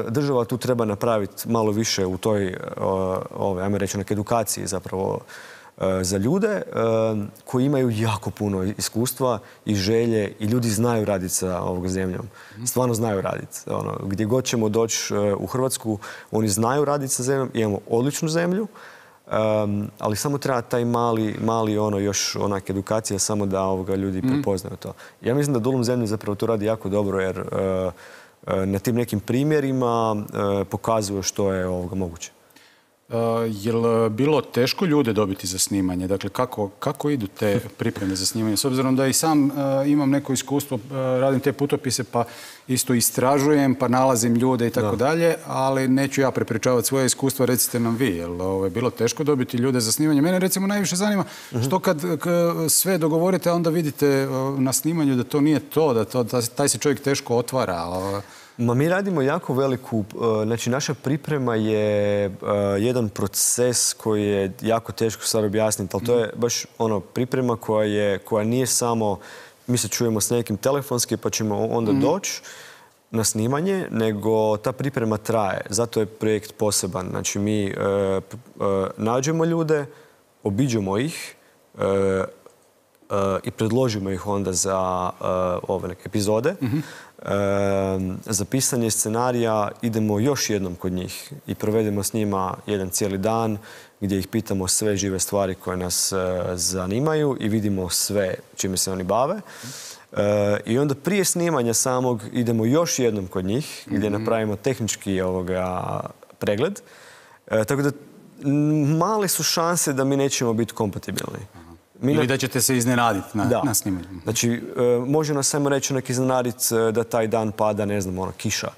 država tu treba napraviti malo više u toj, ajmo reći, edukaciji zapravo za ljude koji imaju jako puno iskustva i želje i ljudi znaju raditi sa ovog zemljom. Stvarno znaju raditi. Gdje god ćemo doći u Hrvatsku, oni znaju raditi sa zemljom. Imamo odličnu zemlju, ali samo treba taj mali još onak edukacija samo da ljudi prepoznaju to. Ja mislim da Dulum zemlje zapravo to radi jako dobro jer na tim nekim primjerima pokazuju što je moguće. Je li bilo teško ljude dobiti za snimanje? Dakle, kako idu te pripreme za snimanje? S obzirom da i sam imam neko iskustvo, radim te putopise pa isto istražujem, pa nalazim ljude i tako dalje, ali neću ja prepričavati svoje iskustva, recite nam vi. Je li bilo teško dobiti ljude za snimanje? Mene recimo najviše zanima što kad sve dogovorite, a onda vidite na snimanju da to nije to, da taj se čovjek teško otvara. Mi radimo jako veliku, znači naša priprema je jedan proces koji je jako teško sad objasniti, ali to je baš priprema koja nije samo mi se čujemo s nekim telefonski pa ćemo onda doći na snimanje, nego ta priprema traje. Zato je projekt poseban. Znači mi nađemo ljude, obiđemo ih i predložimo ih onda za ove neke epizode. Za pisanje scenarija idemo još jednom kod njih i provedemo s njima jedan cijeli dan gdje ih pitamo sve žive stvari koje nas zanimaju i vidimo sve čime se oni bave. I onda prije snimanja samog idemo još jednom kod njih gdje napravimo tehnički pregled. Tako da male su šanse da mi nećemo biti kompatibilni. Ili da ćete se iznenaditi na snimanju. Znači, može nas samo reći iznenaditi da taj dan pada, ne znam, kiša.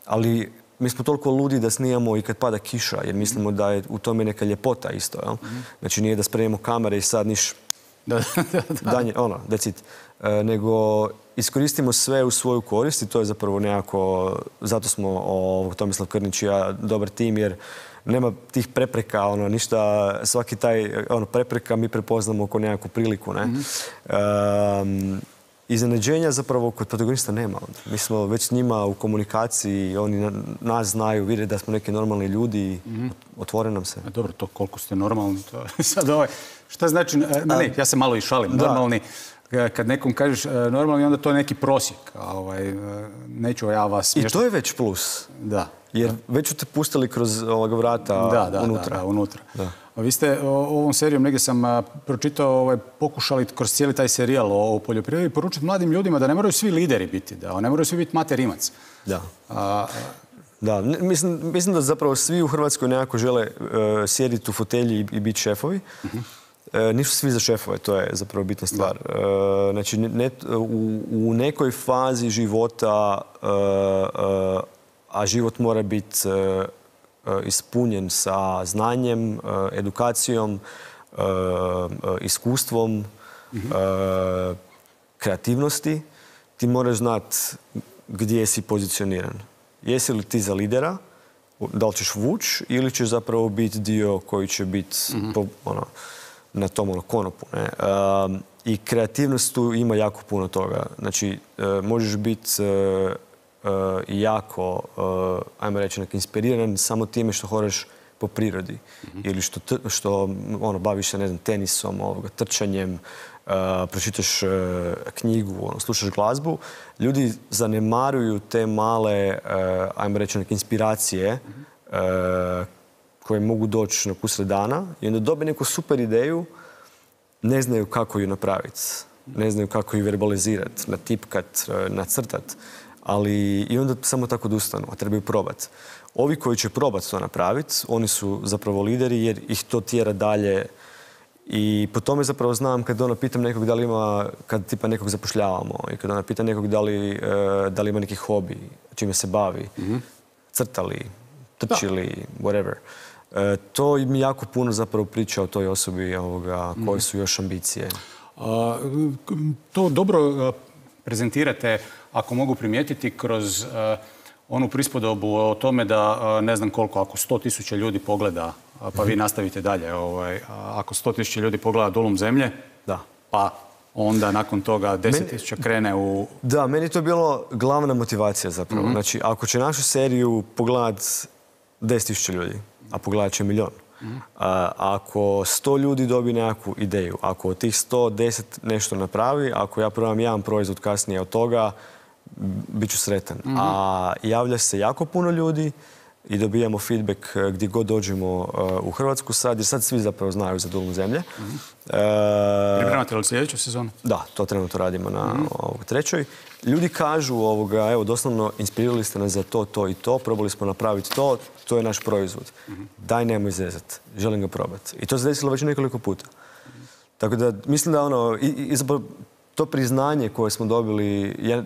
Ali mi smo toliko ludi da snijamo i kad pada kiša, jer mislimo da je u tome neka ljepota isto, jel? Znači nije da spremimo kamere i sad niš danje, that's it. Nego iskoristimo sve u svoju korist i to je zapravo nekako, zato smo Tomislav Krnić i ja dobar tim, jer nema tih prepreka, ništa, svaki taj prepreka mi prepoznamo oko nekakvu priliku, ne? Iznenađenja zapravo kod protagonista nema. Mi smo već s njima u komunikaciji, oni nas znaju, vide da smo neki normalni ljudi i otvore nam se. Dobro, to koliko ste normalni, to sad šta znači, ja se malo i šalim, normalni, kad nekom kažeš normalni, onda to je neki prosjek, neću ja vas smješati. I to je već plus. Da. Jer već su te pustili kroz vrata unutra. Da, unutra. Vi ste ovom serijom, negdje sam pročitao, pokušali kroz cijeli taj serijal o poljoprivredi poručiti mladim ljudima da ne moraju svi lideri biti, da ne moraju svi biti Mate Rimac. Da. Da, mislim da zapravo svi u Hrvatskoj nekako žele sjediti u fotelji i biti šefovi. Nisu svi za šefove, to je zapravo bitna stvar. Znači, u nekoj fazi života, a život mora biti ispunjen sa znanjem, edukacijom, iskustvom, kreativnosti, ti moraš znati gdje si pozicioniran. Jesi li ti za lidera, da li ćeš vući ili ćeš zapravo biti dio koji će biti na tom konopu. I kreativnost tu ima jako puno toga. Znači, možeš biti jako, ajmo reći, inspiriran samo time što hodaš po prirodi. Ili što baviš se, ne znam, tenisom, trčanjem, pročitaš knjigu, slušaš glazbu. Ljudi zanemaruju te male, ajmo reći, inspiracije koje mogu doći usred dana i onda dobe neku super ideju, ne znaju kako ju napraviti, ne znaju kako ju verbalizirati, natipkat, nacrtati, ali i onda samo tako odustanu, a trebaju probati. Ovi koji će probati to napraviti, oni su zapravo lideri jer ih to tjera dalje i po tome zapravo znam kad pitam nekog da li ima, kad tipa nekog zapošljavamo i kad pitam nekog da li ima neki hobi, čime se bavi, crtali, trčili, whatever. To mi jako puno zapravo priča o toj osobi koje su još ambicije. To dobro prezentirate, ako mogu primijetiti, kroz onu prispodobu o tome da ne znam koliko, ako 100.000 ljudi pogleda, pa vi nastavite dalje, ako 100.000 ljudi pogleda Dolom zemlje, pa onda nakon toga 10.000 krene u... Da, meni to je bilo glavna motivacija zapravo. Znači, ako će našu seriju pogledat 10.000 ljudi, a pogledat će 1 milion. Ako 100 ljudi dobije nekakvu ideju, ako od tih 110 nešto napravi, ako ja probam jedan proizvod kasnije od toga, bit ću sretan. A javlja se jako puno ljudi i dobijamo feedback gdje god dođemo u Hrvatsku sad, jer sad svi zapravo znaju za Dolom zemlje. Pripremate li sljedeću sezonu? Da, to trenutno radimo na 3. Ljudi kažu, evo, doslovno inspirirali ste nas za to i to, probali smo napraviti to je naš proizvod. Daj, nemoj zezat, želim ga probati. I to se desilo već nekoliko puta. Tako da, mislim da to priznanje koje smo dobili, ja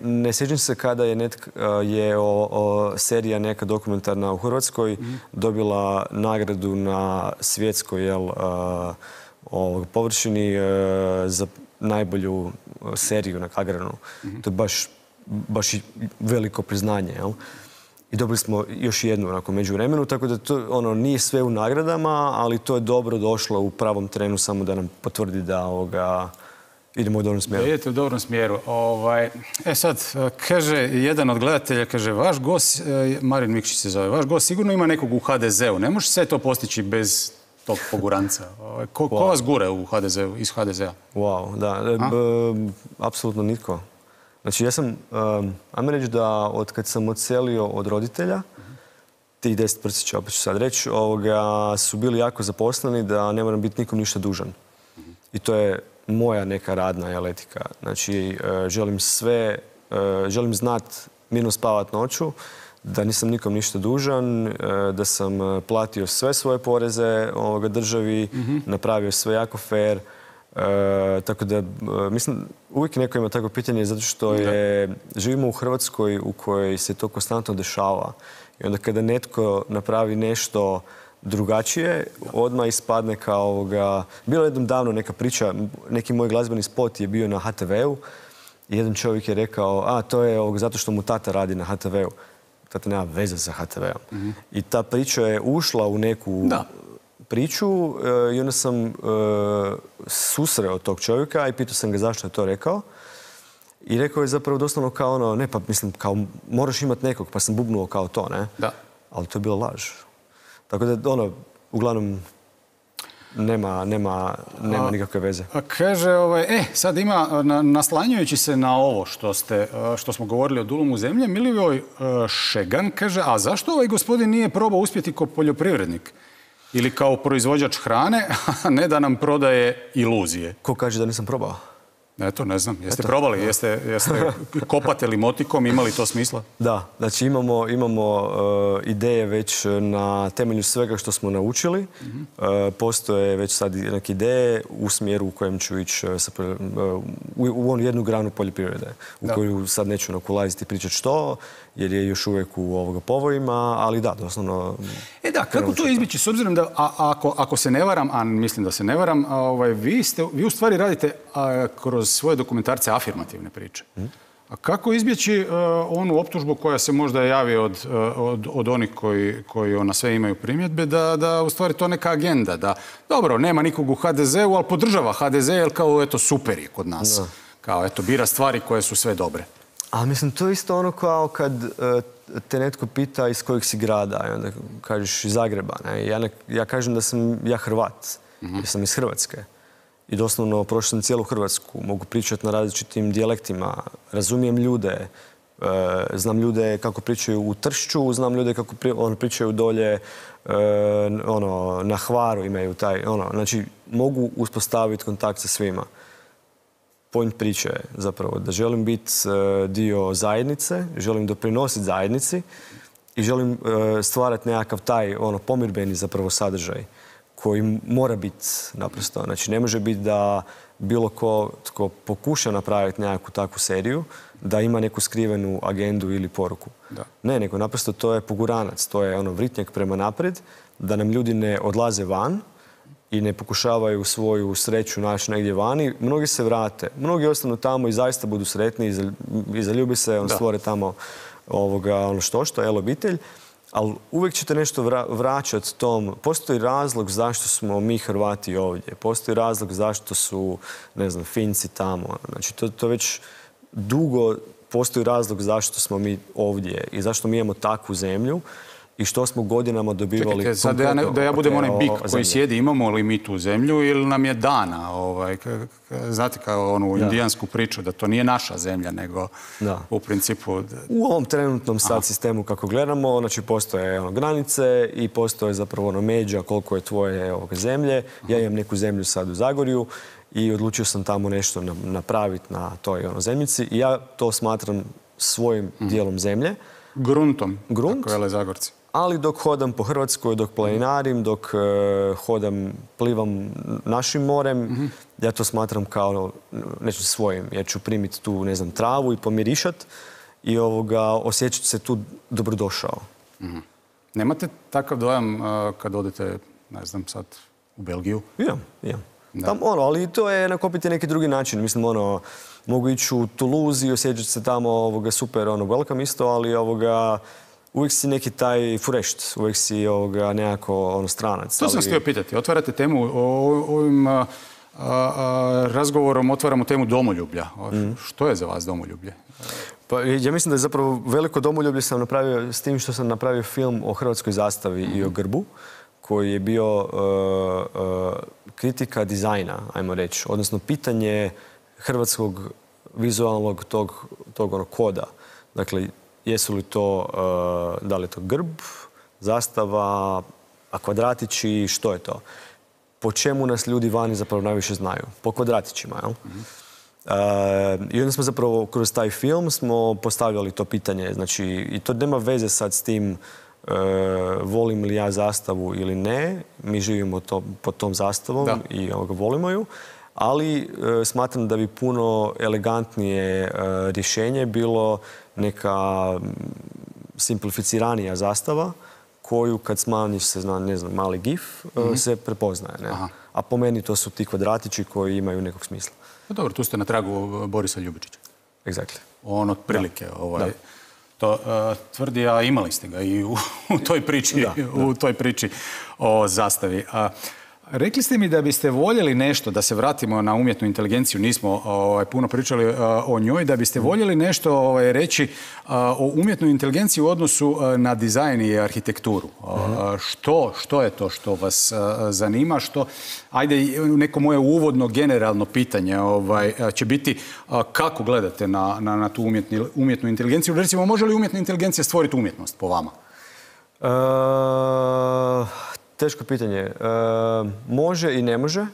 ne sjećam se kada je serija neka dokumentarna u Hrvatskoj dobila nagradu na svjetskoj površini za najbolju seriju na Kagranu. To je baš veliko priznanje. I dobili smo još jednu među vremenu, tako da to nije sve u nagradama, ali to je dobro došlo u pravom trenu samo da nam potvrdi da idemo u dobrom smjeru. Idete u dobrom smjeru. Sad, kaže jedan od gledatelja, kaže, vaš gost, Marin Mikšić se zove, vaš gost sigurno ima nekog u HDZ-u. Ne može sve to postići bez tog poguranca. Ko vas gure iz HDZ-a? Wow, da. Apsolutno nitko. Znači, ja sam, ajmo reći da od kad sam odselio od roditelja, tih 10 prsića, opet ću sad reći, su bili jako zaposleni da ne moram biti nikom ništa dužan. I to je moja neka radna etika. Znači, želim znat mirno spavat noću, da nisam nikom ništa dužan, da sam platio sve svoje poreze državi, napravio sve jako fair, Tako da, mislim, uvijek neko ima takvo pitanje zato što živimo u Hrvatskoj u kojoj se to konstantno dešava. I onda kada netko napravi nešto drugačije, odmah ispadne kao ovoga... Bilo je jednom davno neka priča, neki moj glazbeni spot je bio na HTV-u i jedan čovjek je rekao, to je zato što mu tata radi na HTV-u. Tata nema veze sa HTV-om. I ta priča je ušla u neku priču i onda sam susreo tog čovjeka i pitao sam ga zašto je to rekao. I rekao je zapravo doslovno kao ono, ne pa mislim, kao moraš imati nekog, pa sam bubnuo kao to, ne? Da. Ali to je bila laž. Tako da, ono, uglavnom, nema nikakve veze. Kaže, sad ima, naslanjujući se na ovo što smo govorili o Dulumu zemlje, Milivoj Šegan kaže, a zašto ovaj gospodin nije probao uspjeti kao poljoprivrednik? Ili kao proizvođač hrane, a ne da nam prodaje iluzije? Ko kaže da nisam probao? Eto, ne znam. Jeste probali? Jeste kopate li motikom? Imali to smisla? Da. Znači imamo ideje već na temelju svega što smo naučili. Postoje već sad neke ideje u smjeru u kojem ću ići u jednu granu poljoprivrede. U koju sad neću ulaziti i pričati što, jer je još uvijek u povojima, ali da, doslovno... Da, kako to izbjeći? S obzirom da, ako se ne varam, a mislim da se ne varam, vi u stvari radite kroz svoje dokumentarce afirmativne priče. A kako izbjeći onu optužbu koja se možda javi od onih koji na sve imaju primjedbe, da u stvari to neka agenda, da dobro, nema nikog u HDZ-u, ali podržava HDZ, jer kao eto super je kod nas. Kao eto bira stvari koje su sve dobre. A mislim, to je isto ono kao kad te netko pita iz kojeg si grada i onda kažeš iz Zagreba. Ja kažem da sam ja Hrvat, jer sam iz Hrvatske. I doslovno prošao sam cijelu Hrvatsku, mogu pričati na različitim dijalektima, razumijem ljude, znam ljude kako pričaju u Tršću, znam ljude kako pričaju dolje na Hvaru, imaju taj, znači mogu uspostaviti kontakt sa svima. Point priče je zapravo da želim biti dio zajednice, želim doprinositi zajednici i želim stvarati nekakav taj pomirbeni zapravo sadržaj koji mora biti naprosto. Znači ne može biti da bilo tko pokuša napraviti nekakvu takvu seriju, da ima neku skrivenu agendu ili poruku. Ne, nego naprosto to je poguranac, to je vritnjak prema naprijed, da nam ljudi ne odlaze van i ne pokušavaju svoju sreću naći negdje vani. Mnogi se vrate, mnogi ostanu tamo i zaista budu sretni i zaljubi se, stvore tamo obitelj. Ali uvijek ćete nešto vraćati tom. Postoji razlog zašto smo mi Hrvati ovdje. Postoji razlog zašto su, ne znam, Finci tamo. Znači, to već dugo postoji razlog zašto smo mi ovdje i zašto mi imamo takvu zemlju i što smo godinama dobivali... Čekajte, sad da ja budem onaj bik koji sjedi, imamo li mi tu zemlju ili nam je dana? Znate, kao onu indijansku priču, da to nije naša zemlja, nego u principu... U ovom trenutnom sad sistemu kako gledamo, znači postoje granice i postoje zapravo međa koliko je tvoje zemlje. Ja imam neku zemlju sad u Zagorju i odlučio sam tamo nešto napraviti na toj zemljici i ja to smatram svojim dijelom zemlje. Gruntom, tako vele Zagorci. Ali dok hodam po Hrvatskoj, dok planinarim, dok plivam našim morem, ja to smatram kao nešto svojim. Ja ću primiti tu, ne znam, travu i pomirišat i osjećati se tu dobrodošao. Nemate takav dojam kad odete, ne znam, sad u Belgiju? Imam. Ali to je nakopiti neki drugi način. Mislim, mogu ići u Toulouse i osjećati se tamo super welcome isto, ali uvijek si neki taj furešt, uvijek si nekako stranac. To sam htio pitati. Otvarate temu, ovim razgovorom otvaramo temu domoljublja. Što je za vas domoljublje? Pa, ja mislim da je zapravo veliko domoljublje sam napravio s tim što sam napravio film o hrvatskoj zastavi i o grbu, koji je bio kritika dizajna, ajmo reći, odnosno pitanje hrvatskog vizualnog tog koda. Dakle, jesu li to, da li je to grb, zastava, a kvadratići, što je to? Po čemu nas ljudi vani zapravo najviše znaju? Po kvadratićima, jel? I onda smo zapravo kroz taj film smo postavljali to pitanje. Znači, i to nema veze sad s tim volim li ja zastavu ili ne. Mi živimo pod tom zastavom i volimo ju. ali smatram da bi puno elegantnije rješenje bilo neka simplificiranija zastava koju kad smanjiš se na, ne znam, mali gif, se prepoznaje. Ne? A po meni to su ti kvadratići koji imaju nekog smisla. Dobro, tu ste na tragu Borisa Ljubičića. Exactly. On otprilike to tvrdi, a imali ste ga i u toj priči o zastavi. Rekli ste mi da biste voljeli nešto, da se vratimo na umjetnu inteligenciju, nismo puno pričali o njoj, da biste voljeli nešto reći o umjetnoj inteligenciji u odnosu na dizajn i arhitekturu. Što je to što vas zanima? Ajde, neko moje uvodno generalno pitanje će biti kako gledate na tu umjetnu inteligenciju? Recimo, može li umjetna inteligencija stvoriti umjetnost po vama? Teško pitanje. Može i ne može.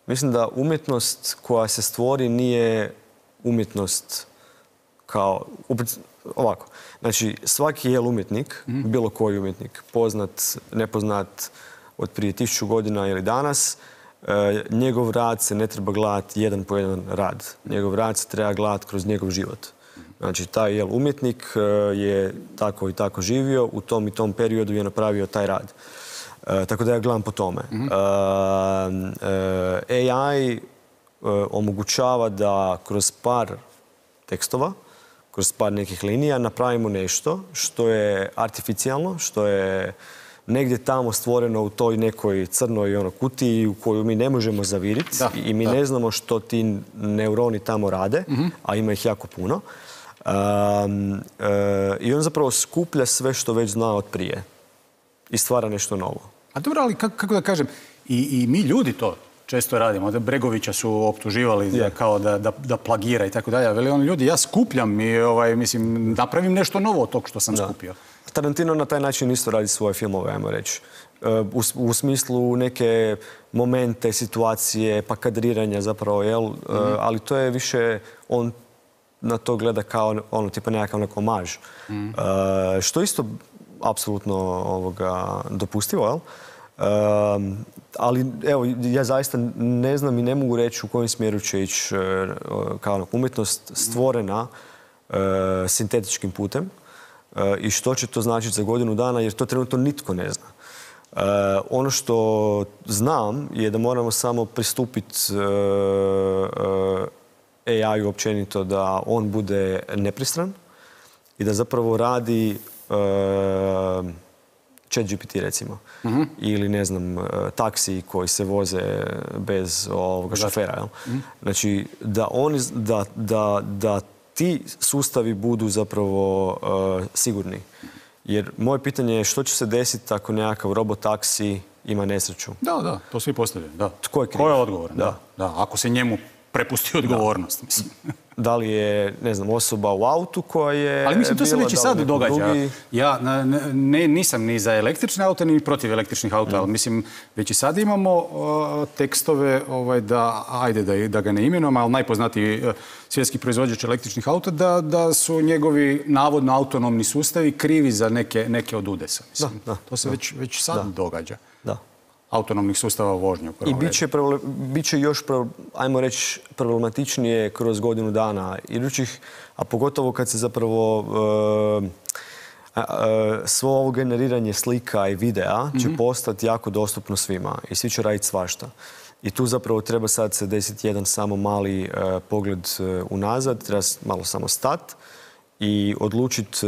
Mislim da umjetnost koja se stvori nije umjetnost kao... Ovako. Znači, svaki je umjetnik, bilo koji umjetnik, poznat, nepoznat od prije 1000 godina ili danas, njegov rad se ne treba gledati jedan po jedan rad. Njegov rad se treba gledati kroz njegov život. Znači, taj umjetnik je tako i tako živio, u tom i tom periodu je napravio taj rad. Tako da ja gledam po tome. AI omogućava da kroz par tekstova, kroz par nekih linija napravimo nešto što je artificijalno, što je negdje tamo stvoreno u toj nekoj crnoj kutiji u koju mi ne možemo zaviriti i mi ne znamo što ti neuroni tamo rade, a ima ih jako puno. I on zapravo skuplja sve što već zna od prije i stvara nešto novo. A dobro, ali kako da kažem, i mi ljudi to često radimo. Bregovića su optuživali kao da plagira i tako dalje. Veli on, ljudi, ja skupljam i mislim, napravim nešto novo od tog što sam skupio. Tarantino na taj način isto radi svoje filmove, ajmo reći. U smislu neke momente, situacije, pa kadriranja zapravo, ali to je više, on na to gleda kao tipa nekakav omaž. Što isto apsolutno dopustivo, jel? Ali evo, ja zaista ne znam i ne mogu reći u kojem smjeru će ići kao umjetnost stvorena sintetičkim putem i što će to značiti za godinu dana, jer to trenutno nitko ne zna. Ono što znam je da moramo samo pristupiti AI-u općenito da on bude nepristran i da zapravo radi ChatGPT recimo. Ili ne znam, taksiji koji se voze bez šofera. Znači, da ti sustavi budu zapravo sigurni. Jer moje pitanje je što će se desiti ako nekakav robotaksi ima nesreću? Da, to svi postavljaju. Tko je kriv? Ko je odgovoran? Da, ako se njemu prepusti odgovornost, mislim. Da li je, ne znam, osoba u autu koja je... Ali mislim, to se već i sad događa. Ja nisam ni za električne auta, ni protiv električnih auta, ali mislim, već i sad imamo tekstove da ga ne imenujemo, ali najpoznatiji svjetski proizvođač električnih auta, da su njegovi navodno autonomni sustavi krivi za neke od udesa. To se već sad događa. Autonomnih sustava vožnje. I bit će još, ajmo reći, problematičnije kroz godinu dana idućih, a pogotovo kad se zapravo svo ovo generiranje slika i videa će postati jako dostupno svima i svi će raditi svašta. I tu zapravo treba sad se desiti jedan samo mali pogled unazad, treba malo samo stati i odlučiti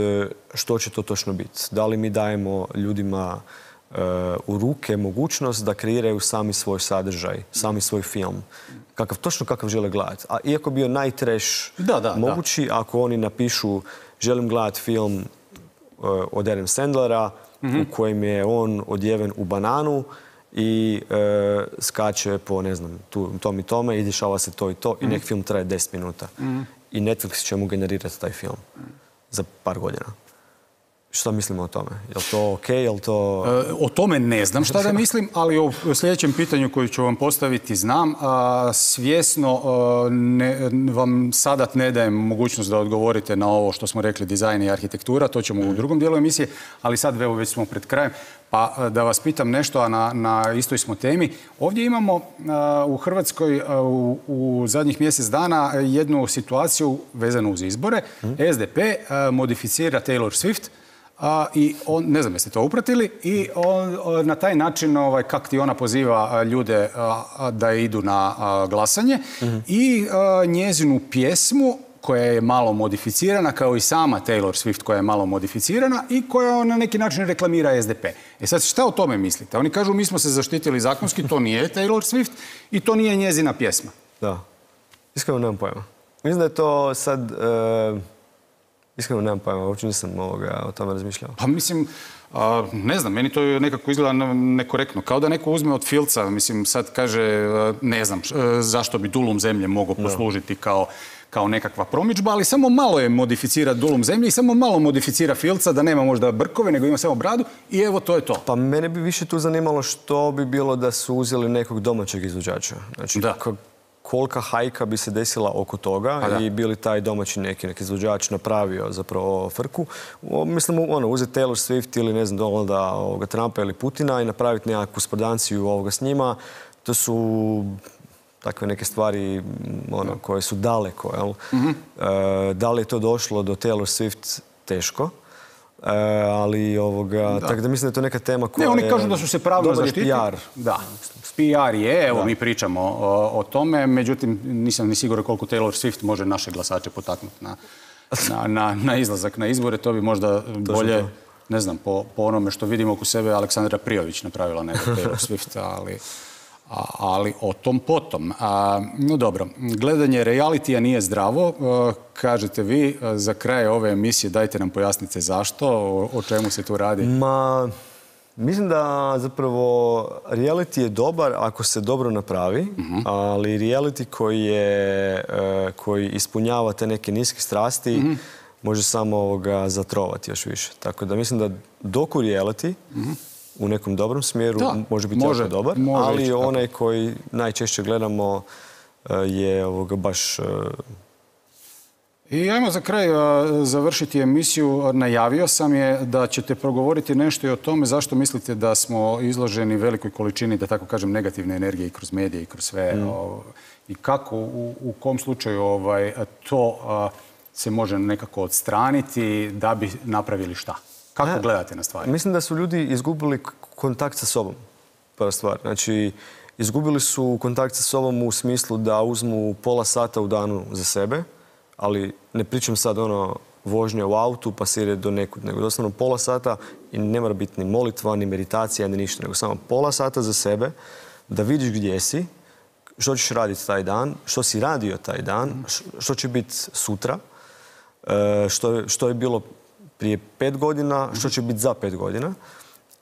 što će to točno biti. Da li mi dajemo ljudima u ruke mogućnost da kreiraju sami svoj sadržaj, sami svoj film. Točno kakav žele gledati. A iako bio najtrash mogući, ako oni napišu želim gledati film od Adam Sandlera u kojem je on odjeven u bananu i skače po, ne znam, tom i tome i dešava se to i to i nek film traje 10 minuta. I Netflix će mu generirati taj film za par godina. Šta mislimo o tome? Je li to okej? Je li to... O tome ne znam šta da mislim, ali o sljedećem pitanju koju ću vam postaviti znam. Svjesno vam sada ne dajem mogućnost da odgovorite na ovo što smo rekli, dizajn i arhitektura. To ćemo u drugom dijelu emisije, ali sad već smo pred krajem. Pa da vas pitam nešto, a na istoj smo temi. Ovdje imamo u Hrvatskoj u zadnjih mjesec dana jednu situaciju vezanu uz izbore. SDP modificira Taylor Swift i on, ne znam jeste to upratili, i on na taj način, kak ti ona poziva ljude da idu na glasanje, i njezinu pjesmu koja je malo modificirana, kao i sama Taylor Swift koja je malo modificirana i koja na neki način reklamira SDP. Sad, šta o tome mislite? Oni kažu, mi smo se zaštitili zakonski, to nije Taylor Swift i to nije njezina pjesma. Da. Iskreno nemam pojma. Mislim da je to sad... Iskreno nemam pojma, uopće nisam o tome razmišljao. Pa mislim, ne znam, meni to nekako izgleda nekorektno. Kao da neko uzme od filca, mislim, sad kaže, ne znam, zašto bi dulum zemlje mogao poslužiti kao nekakva promidžba, ali samo malo je modificira dulum zemlje i samo malo modificira filca, da nema možda brkove, nego ima samo bradu i evo, to je to. Pa mene bi više tu zanimalo što bi bilo da su uzeli nekog domaćeg izvođača. Znači, kolika hajka bi se desila oko toga i bili taj domaći neki izvođač napravio zapravo frku. Mislim, uzeti Taylor Swift ili ne znam, Donalda Trumpa ili Putina i napraviti nekakvu spordanciju s njima, to su takve neke stvari koje su daleko. Da li je to došlo do Taylor Swift? Teško. Ali tako da mislim da je to neka tema koja je... Ne, oni kažu da su se pravno zaštitili. PR. Da, PR je, evo mi pričamo o tome, međutim nisam ni siguran koliko Taylor Swift može naše glasače potaknuti na izlazak na izbore. To bi možda bolje, ne znam, po onome što vidimo oko sebe, Aleksandra Prijović napravila nego Taylor Swift, ali o tom potom. No dobro, gledanje realitija nije zdravo. Kažete vi, za kraj ove emisije dajte nam pojasnite zašto, o čemu se tu radi. Mislim da zapravo reality je dobar ako se dobro napravi, ali reality koji ispunjava te neke niske strasti može samo zatrovati još više. Tako da mislim da doku reality u nekom dobrom smjeru može biti jako dobar, ali onaj koji najčešće gledamo je baš... I ajmo za kraj završiti emisiju. Najavio sam je da ćete progovoriti nešto i o tome zašto mislite da smo izloženi velikoj količini, da tako kažem, negativne energije i kroz medije i kroz sve. I kako, u kom slučaju to se može nekako odstraniti da bi napravili šta? Kako gledate na stvari? Mislim da su ljudi izgubili kontakt sa sobom, prva stvar. Znači, izgubili su kontakt sa sobom u smislu da uzmu pola sata u danu za sebe, ali ne pričam sad vožnja u autu pa se ide do nekud, nego doslovno pola sata i ne mora biti ni molitva, ni meditacija, ni ništa, nego samo pola sata za sebe, da vidiš gdje si, što ćeš raditi taj dan, što si radio taj dan, što će biti sutra, što je bilo prije 5 godina, što će biti za 5 godina.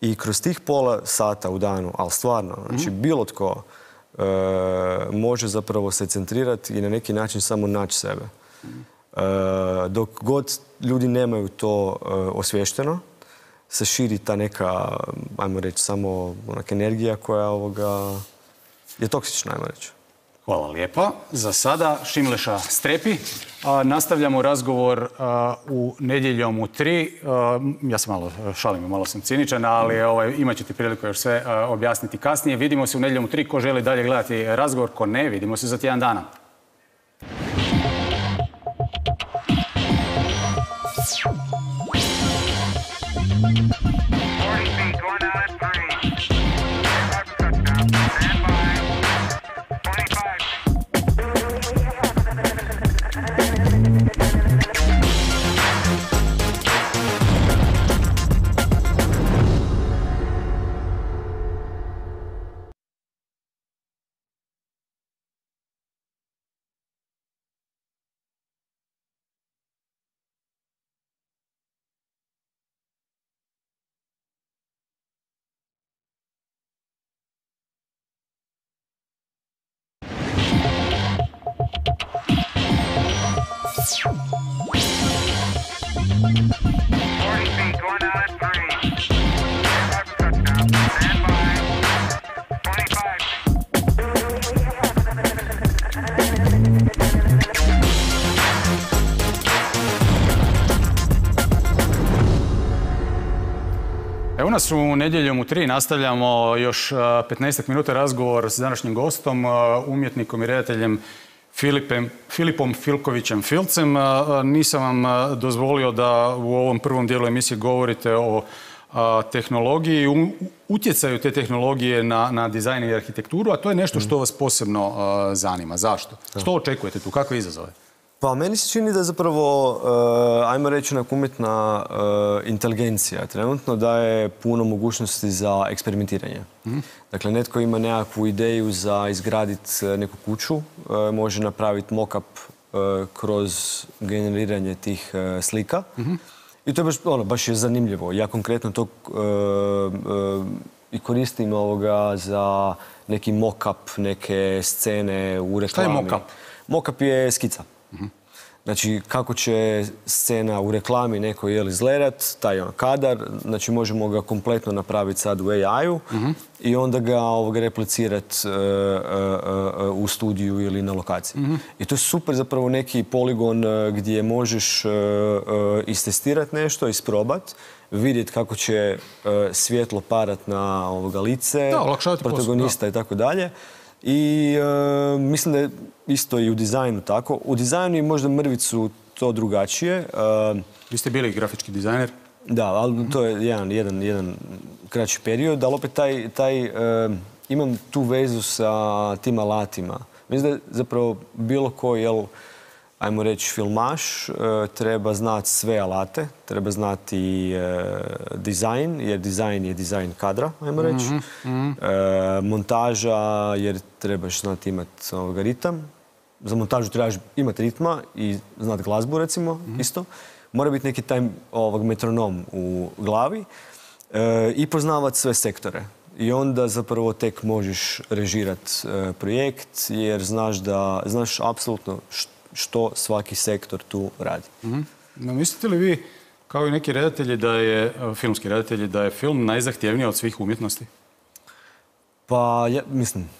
I kroz tih pola sata u danu, ali stvarno, znači bilo tko može zapravo se centrirati i na neki način samo naći sebe. Dok god ljudi nemaju to osvješteno, se širi ta neka, ajmo reći, samo onaka energija koja je toksična, ajmo reći. Hvala lijepa. Za sada Šimleša strepi. Nastavljamo razgovor u nedjeljom u 3. Ja se malo šalim, malo sam ciničan, ali imat ćete priliku još sve objasniti kasnije. Vidimo se u nedjeljom u 3. Ko želi dalje gledati razgovor, ko ne, vidimo se za tjedan dana. Evo nas u Nedjeljom u 3 nastavljamo još 15 minuta razgovor s današnjim gostom, umjetnikom i redateljem Filipom Filkovićem Filcem. Nisam vam dozvolio da u ovom prvom dijelu emisije govorite o tehnologiji i utjecaju te tehnologije na dizajn i arhitekturu, a to je nešto što vas posebno zanima. Zašto? Što očekujete tu? Kakve izazove? Pa meni se čini da zapravo, ajmo reći, umjetna inteligencija trenutno daje puno mogućnosti za eksperimentiranje. Dakle, netko ima nekakvu ideju za izgraditi neku kuću, može napraviti mock-up kroz generiranje tih slika. I to je baš je zanimljivo. Ja konkretno to i koristim za neki mock-up, neke scene u reklami. Šta je mock-up? Mock-up je skica. Znači, kako će scena u reklami neko izgledat, taj kadar, znači možemo ga kompletno napraviti sad u AI-u i onda ga replicirati u studiju ili na lokaciji. I to je super zapravo neki poligon gdje možeš istestirati nešto, isprobati, vidjeti kako će svjetlo parat na lice, protagonista i tako dalje. I mislim da je isto i u dizajnu tako. U dizajnu je možda mrvicu to drugačije. Vi ste bili grafički dizajner? Da, ali to je jedan kraći period, ali opet imam tu vezu sa tim alatima. Mislim da je zapravo bilo ko, ajmo reći, filmaš, treba znati sve alate, treba znati dizajn, jer dizajn je dizajn kadra, ajmo reći. Montaža, jer trebaš znati imati ritam. Za montažu trebaš imati ritma i znati glazbu, recimo, isto. Mora biti neki taj metronom u glavi i poznavati sve sektore. I onda zapravo tek možeš režirati projekt, jer znaš apsolutno što svaki sektor tu radi. Mislite li vi, kao i neki redatelji, filmski redatelji, da je film najzahtjevniji od svih umjetnosti? Pa, mislim...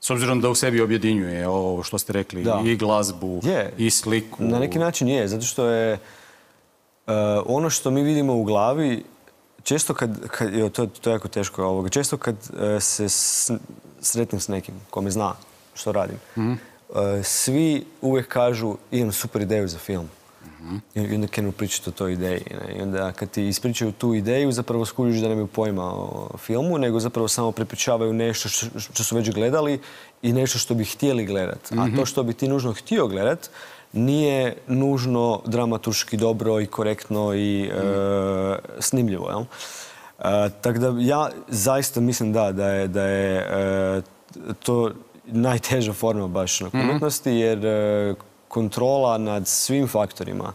S obzirom da u sebi objedinjuje ovo što ste rekli, i glazbu, i sliku. Na neki način je, zato što je ono što mi vidimo u glavi, često to je jako teško, često kad se sretnem s nekim ko me zna što radim, svi uvijek kažu imam super ideju za film. I onda krenu pričati o toj ideji. I onda kad ti ispričaju tu ideju, zapravo skužiš da nemaju pojma o filmu, nego zapravo samo prepričavaju nešto što su već gledali i nešto što bi htjeli gledati. A to što bi ti nužno htio gledati nije nužno dramaturški dobro i korektno i snimljivo. Tako da ja zaista mislim da je to najteža forma baš na umjetnosti, jer kontrola nad svim faktorima,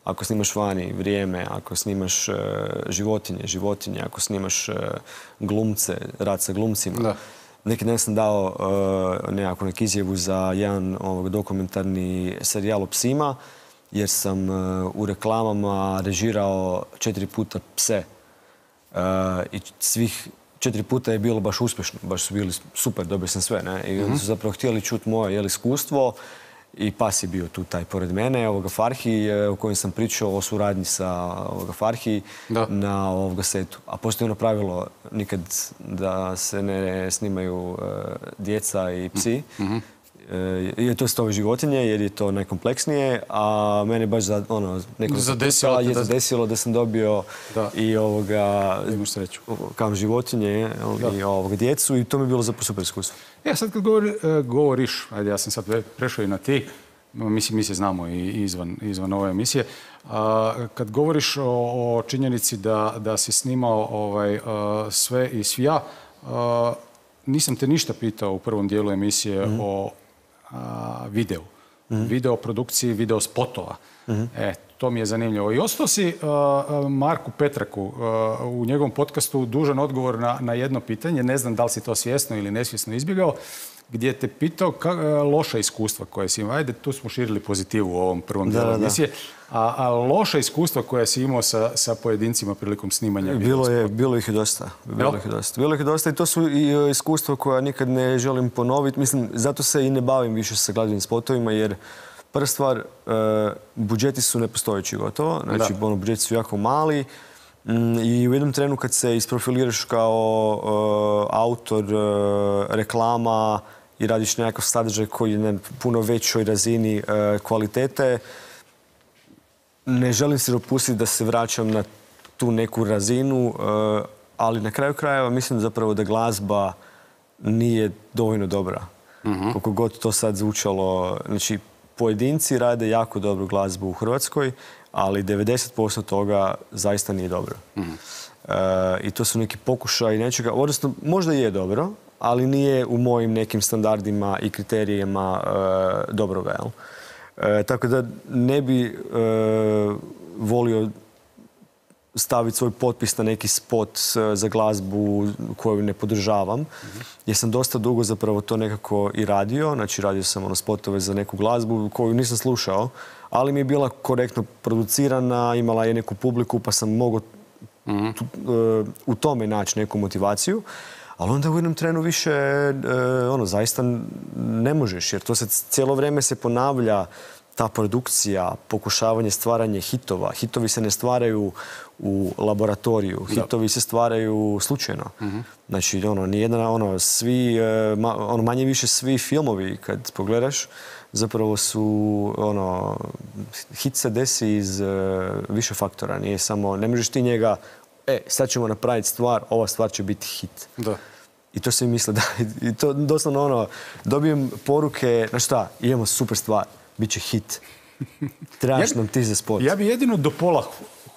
ako snimaš vani vrijeme, ako snimaš životinje, ako snimaš glumce, rad sa glumcima. Neki dan sam dao neku izjavu za jedan dokumentarni serijal o psima, jer sam u reklamama režirao 4 puta pse. I svih 4 puta je bilo baš uspješno, baš su bili super, dobio sam sve. I onda su zapravo htjeli čuti moje iskustvo. I pas je bio tu taj pored mene, Farhi, u kojem sam pričao o suradnji sa Farhi na setu. A postoji ono pravilo nikad da se ne snimaju djeca i psi. I to su životinje jer je to najkompleksnije, a mene baš zadesilo da sam dobio i životinje i djecu i to mi je bilo zapravo super iskustvo. Sad kad govoriš, ajde ja sam sad prešao i na ti, mi se znamo i izvan ove emisije, kad govoriš o činjenici da si snimao sve i svija, nisam te ništa pitao u prvom dijelu emisije o videu. Video produkciji, video spotova. To mi je zanimljivo. I ostao si Marku Petraku u njegovom podcastu dužan odgovor na jedno pitanje. Ne znam da li si to svjesno ili nesvjesno izbjegao, gdje te pitao loša iskustva koje si imao. Ajde, tu smo širili pozitivu u ovom prvom dijelu emisije. A loša iskustva koja si imao sa pojedincima prilikom snimanja video. Bilo ih je dosta. Bilo ih je dosta i to su i iskustva koja nikad ne želim ponoviti. Mislim, zato se i ne bavim više sa glazbenim spotovima, jer prva stvar, budžeti su nepostojeći gotovo. Znači, budžeti su jako mali. I u jednom trenu kad se isprofiliraš kao autor reklama i radiš nekakav sadržaj koji je na puno većoj razini kvalitete, ne želim se dopustiti da se vraćam na tu neku razinu, ali na kraju krajeva mislim zapravo da glazba nije dovoljno dobra. Koliko god to sad zvučalo. Znači, pojedinci rade jako dobru glazbu u Hrvatskoj, ali 90% toga zaista nije dobro. I to su neki pokušaj nečega, odnosno možda je dobro, ali nije u mojim nekim standardima i kriterijima dobroga. Tako da ne bi volio staviti svoj potpis na neki spot za glazbu koju ne podržavam. Jer sam dosta dugo zapravo to nekako i radio. Znači radio sam spotove za neku glazbu koju nisam slušao, ali mi je bila korektno producirana, imala je neku publiku pa sam mogao u tome naći neku motivaciju. Ali onda u jednom trenu više zaista ne možeš, jer to se cijelo vrijeme se ponavlja ta produkcija, pokušavanje stvaranja hitova. Hitovi se ne stvaraju u laboratoriju, hitovi se stvaraju slučajno. Znači, manje više svi filmovi, kad pogledaš, zapravo su, hit se desi iz više faktora. Nije samo, ne možeš ti njega, sad ćemo napraviti stvar, ova stvar će biti hit. Da. I to se misle, da. I to doslovno, dobijem poruke, znaš šta, imamo super stvar, bit će hit. Trebaš nam ti za spot. Ja bi jedino do pola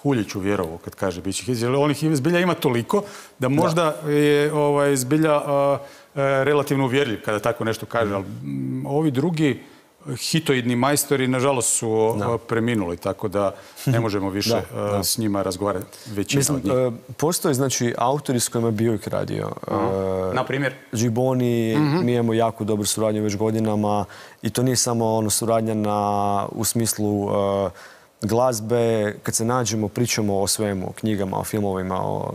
Huljiću vjerovao kad kaže bit će hit, jer onih zbilja ima toliko da možda je zbilja relativno uvjerljiv kada tako nešto kaže, ali ovi drugi hitoidni majstori, nažalost, su preminuli, tako da ne možemo više s njima razgovarati, većina od njih. Postoje, znači, autori s kojima je Björk radio. Na primjer? Gibboni, mi imamo jako dobru suradnju već godinama i to nije samo suradnja u smislu glazbe. Kad se nađemo, pričamo o svemu, o knjigama, o filmovima, o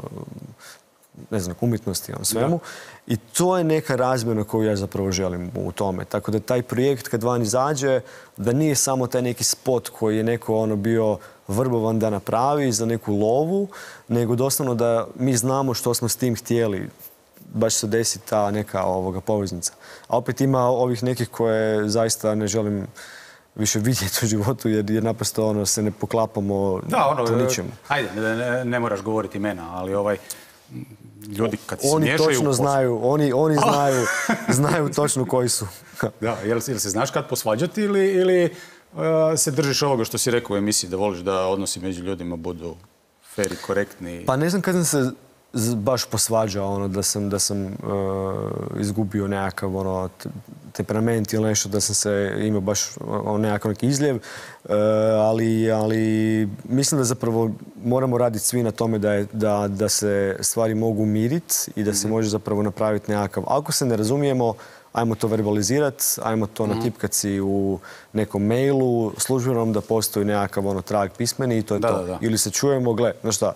umjetnosti, o svemu. I to je neka razmjena koju ja zapravo želim u tome. Tako da taj projekt kad van izađe, da nije samo taj neki spot koji je neko bio vrbovan da napravi za neku lovu, nego doslovno da mi znamo što smo s tim htjeli. Baš se desi ta neka poveznica. A opet ima ovih nekih koje zaista ne želim više vidjeti u životu, jer naprosto se ne poklapamo po ničemu. Ajde, ne moraš govoriti imena, ali ljudi kad se miješaju... Oni točno znaju, oni znaju točno koji su. Da, jel se znaš kad posvađati ili se držiš ovoga što si rekao u emisiji, da voliš da odnosi među ljudima budu fer i korektni? Pa ne znam kad sam se baš posvađao, da sam izgubio nekakav temperament ili nešto, da sam se imao baš nekakav neki izljev, ali mislim da zapravo moramo raditi svi na tome da se stvari mogu miriti i da se može zapravo napraviti nekakav, ako se ne razumijemo, ajmo to verbalizirati, ajmo to natipkati si u nekom mailu službenom, da postoji nekakav trag pismeni i to je to. Ili se čujemo, gle, znaš šta,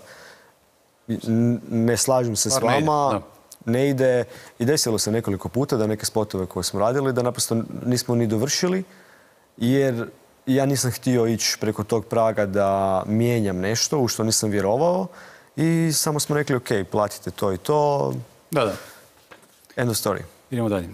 ne slažem se s vama, ne ide. I desilo se nekoliko puta da neke spotove koje smo radili, da naprosto nismo ni dovršili, jer ja nisam htio ići preko tog praga da mijenjam nešto u što nisam vjerovao i samo smo rekli, ok, platite to i to. Da. End of story. Idemo dalje.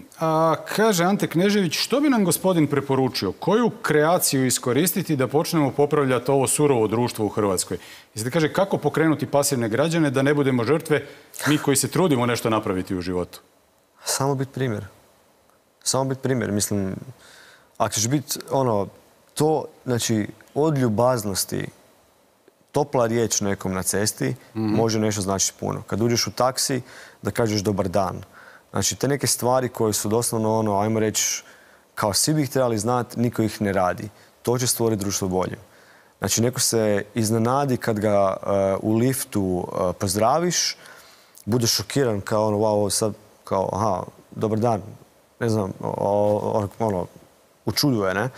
Kaže Ante Knežević, što bi nam gospodin preporučio? Koju kreaciju iskoristiti da počnemo popravljati ovo surovo društvo u Hrvatskoj? I sad kaže, kako pokrenuti pasivne građane da ne budemo žrtve, mi koji se trudimo nešto napraviti u životu? Samo biti primjer. Samo biti primjer. Mislim, ako ćeš biti to, znači, od ljubaznosti, topla riječ nekom na cesti može nešto značiti puno. Kad uđeš u taksi, da kažeš dobar dan. Znači, te neke stvari koje su doslovno, ajmo reći, kao svi bi ih trebali znati, niko ih ne radi. To će stvoriti društvo bolje. Znači, neko se iznenadi kad ga u liftu pozdraviš, budeš šokiran kao wow, sad, kao, aha, dobar dan, ne znam, učuduje, ne?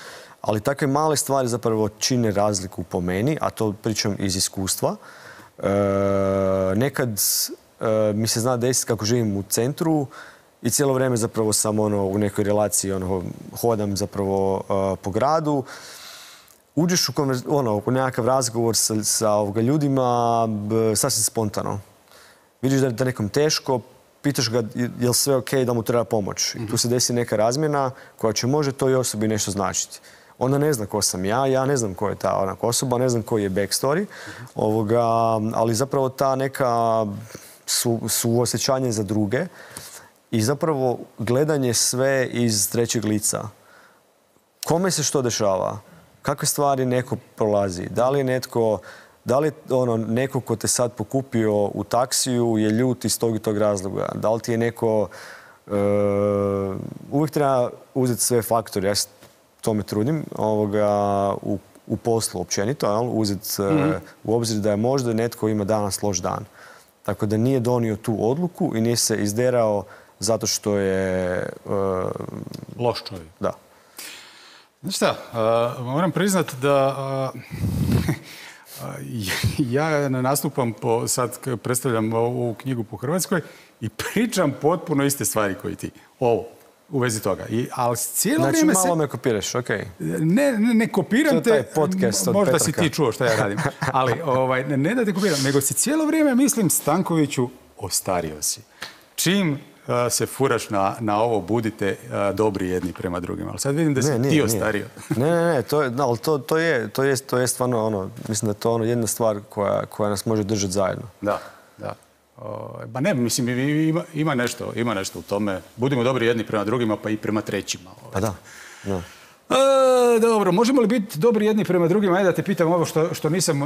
Ali takve male stvari zapravo čine razliku po meni, a to pričam iz iskustva. Nekad mi se zna desiti kako živim u centru i cijelo vrijeme zapravo sam u nekoj relaciji hodam zapravo po gradu. uđeš u nekakav razgovor sa ljudima sasvim spontano. Vidiš da je nekom teško, pitaš ga je li sve ok, da mu treba pomoć. I tu se desi neka razmjena koja će može toj osobi nešto značiti. Ona ne zna ko sam ja ne znam ko je ta osoba, ne znam koji je backstory, ali zapravo ta neka suosjećanje za druge i zapravo gledanje sve iz trećeg lica. Kome se što dešava? Kakve stvari neko prolazi? Da li je neko ko te sad pokupio u taksiju je ljut iz tog i tog razloga? Da li ti je neko... uvijek treba uzeti sve faktore. Ja se tome trudim u poslu općenito. Uzeti u obzir da je možda netko ima danas loš dan. Tako da nije donio tu odluku i nije se izderao zato što je... loš čovjek. Da. Znaš šta, moram priznat da ja nastupam sad predstavljam ovu knjigu po Hrvatskoj i pričam potpuno iste stvari koji ti. U vezi toga. Ali cijelo vrijeme malo me kopiraš, okej. Ne kopiram te, to je taj podcast od možda Petraka. Si ti čuo šta ja radim. Ali ne da te kopiram, nego si cijelo vrijeme mislim Stankoviću, ostario si. Čim se furaš na ovo, budite dobri jedni prema drugima. Ali sad vidim da si ti ostario. Ne, to je stvarno mislim da je to jedna stvar koja nas može držati zajedno. Da. Ba ne, mislim, ima nešto u tome. Budimo dobri jedni prema drugima, pa i prema trećima. Pa da. Dobro, možemo li biti dobri jedni prema drugima? Ajde da te pitam ovo što nisam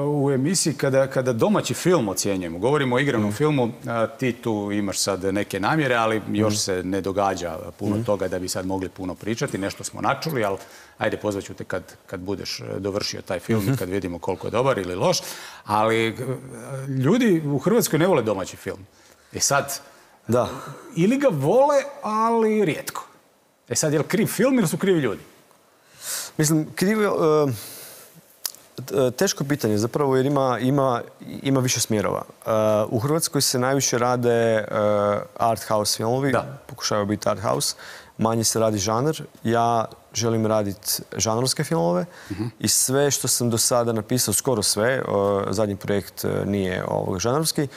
u emisiji. Kada domaći film ocjenjujemo, govorimo o igranom filmu, ti tu imaš sad neke namjere, ali još se ne događa puno toga da bi sad mogli puno pričati. Nešto smo načuli, ali ajde, pozvaću te kad budeš dovršio taj film i kad vidimo koliko je dobar ili loš. Ali ljudi u Hrvatskoj ne vole domaći film. Sad, ili ga vole, ali rijetko. Sad, je li kriv film ili su krivi ljudi? Mislim, teško pitanje zapravo jer ima više smjerova. U Hrvatskoj se najviše rade art house filmovi, pokušavaju biti art house. Manje se radi žanr. Ja želim raditi žanrovske filmove i sve što sam do sada napisao, skoro sve, zadnji projekt nije žanrovski,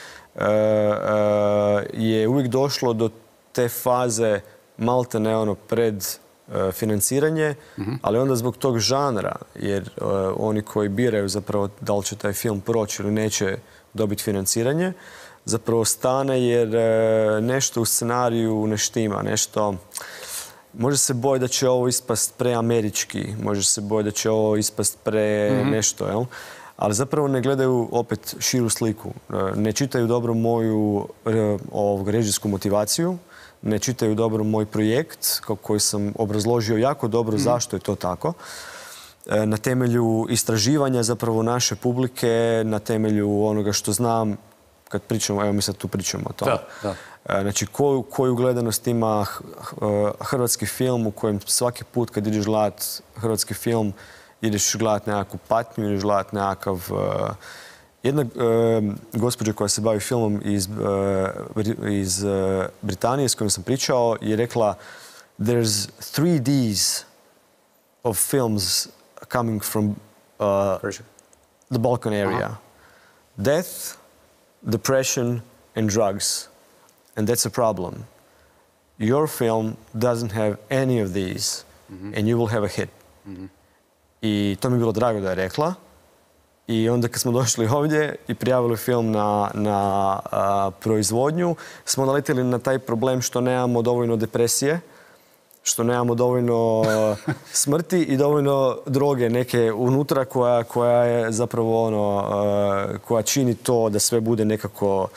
je uvijek došlo do te faze malte ne pred financiranje, ali onda zbog tog žanra, jer oni koji biraju zapravo da li će taj film proći ili neće dobiti financiranje, zapravo stane jer nešto u scenariju ne štima, nešto... Može se bojati da će ovo ispast preamerički, može se bojati da će ovo ispast nešto, jel? Ali zapravo ne gledaju opet širu sliku. Ne čitaju dobro moju režijsku motivaciju, ne čitaju dobro moj projekt koji sam obrazložio jako dobro zašto je to tako. Na temelju istraživanja zapravo naše publike, na temelju onoga što znam kad pričamo, evo mi sad tu pričamo o tome. Znači, koju gledanost ima hrvatski film u kojem svaki put kad ideš gledat hrvatski film ideš gledat nekakvu patnju, ideš gledat nekakav... Jedna gospođa koja se bavi filmom iz Britanije s kojom sam pričao je rekla there's 3 Ds of films coming from the Balkan area. Death, depression and drugs. And that's a problem. Your film doesn't have any of these and you will have a hit. I to mi je bilo drago da je rekla. I onda kad smo došli ovdje i prijavili film na proizvodnju, smo naletili na taj problem što nemamo dovoljno depresije, što nemamo dovoljno smrti i dovoljno droge neke unutra koja je zapravo koja čini to da sve bude nekako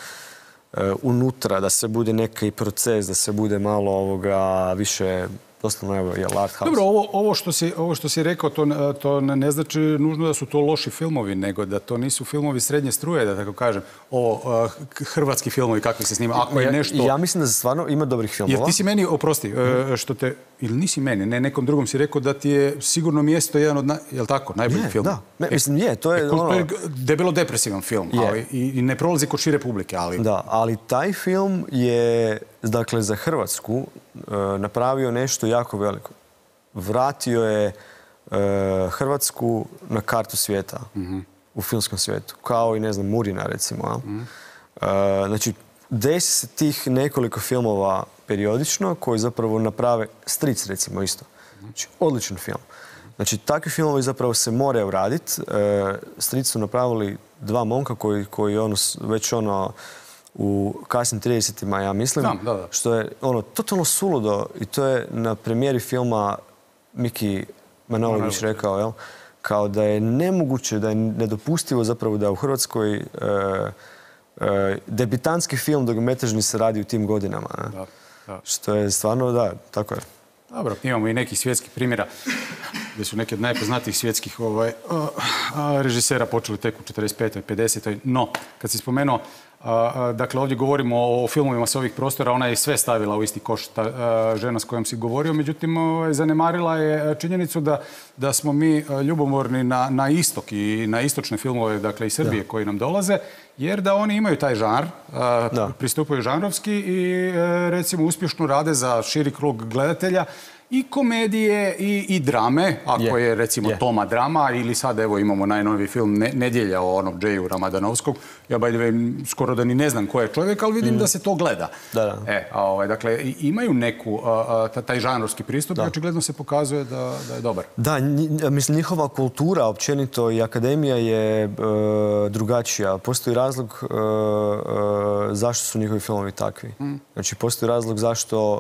unutra, da sve bude neki proces, da sve bude malo više... Doslovno, evo, je art house. Dobro, ovo što si rekao, to ne znači nužno da su to loši filmovi, nego da to nisu filmovi srednje struje, da tako kažem. Ovo, hrvatski filmovi, kakvi se snima. Ako je nešto... Ja mislim da stvarno ima dobrih filmova. Jer ti si meni, oprosti, što te... Ili nisi meni, ne nekom drugom si rekao da ti je sigurno mjesto jedan od, jel tako, najboljih filmova? Da, mislim, je, to je... To je debelo depresivan film, ali i ne prolazi kod šire publike, ali... Da, ali taj film je, dakle, za Hrvatsku napravio nešto jako veliko. Vratio je Hrvatsku na kartu svijeta u filmskom svijetu. Kao i, ne znam, Murina, recimo. Znači, desi se tih nekoliko filmova periodično koji zapravo naprave Stric, recimo, isto. Znači, odličan film. Znači, takvi filmovi zapravo se moraju raditi. Stric su napravili 2 momka koji već u kasnim 30-ima, ja mislim, što je totalno suludo i to je na premijeri filma Miki Manojlović rekao, jel? Kao da je nemoguće, da je nedopustivo zapravo da u Hrvatskoj debitanski film dugometražni se radi u tim godinama. Što je stvarno, da, tako je. Dobro, imamo i nekih svjetskih primjera gdje su neki od najpoznatijih svjetskih režisera počeli tek u 45. i 50. No, kad si spomenuo, dakle, ovdje govorimo o filmovima s ovih prostora, ona je sve stavila u isti koš, ta žena s kojom si govorio, međutim, zanemarila je činjenicu da smo mi ljubomorni na istok i na istočne filmove, dakle, iz Srbije koji nam dolaze, jer da oni imaju taj žanr, pristupaju žanrovski i, recimo, uspješno rade za širi krug gledatelja i komedije i drame, ako je, recimo, Toma drama, ili sad, evo, imamo najnoviji film Nedjelja o onom Džeju Ramadanovskog. Ja, by the way, skoro da ni ne znam ko je čovjek, ali vidim da se to gleda. Dakle, imaju neku, taj žanrovski pristup i očigledno se pokazuje da je dobar. Da, mislim, njihova kultura, općenito, i akademija je drugačija. Postoji razlog zašto su njihovi filmovi takvi. Znači, postoji razlog zašto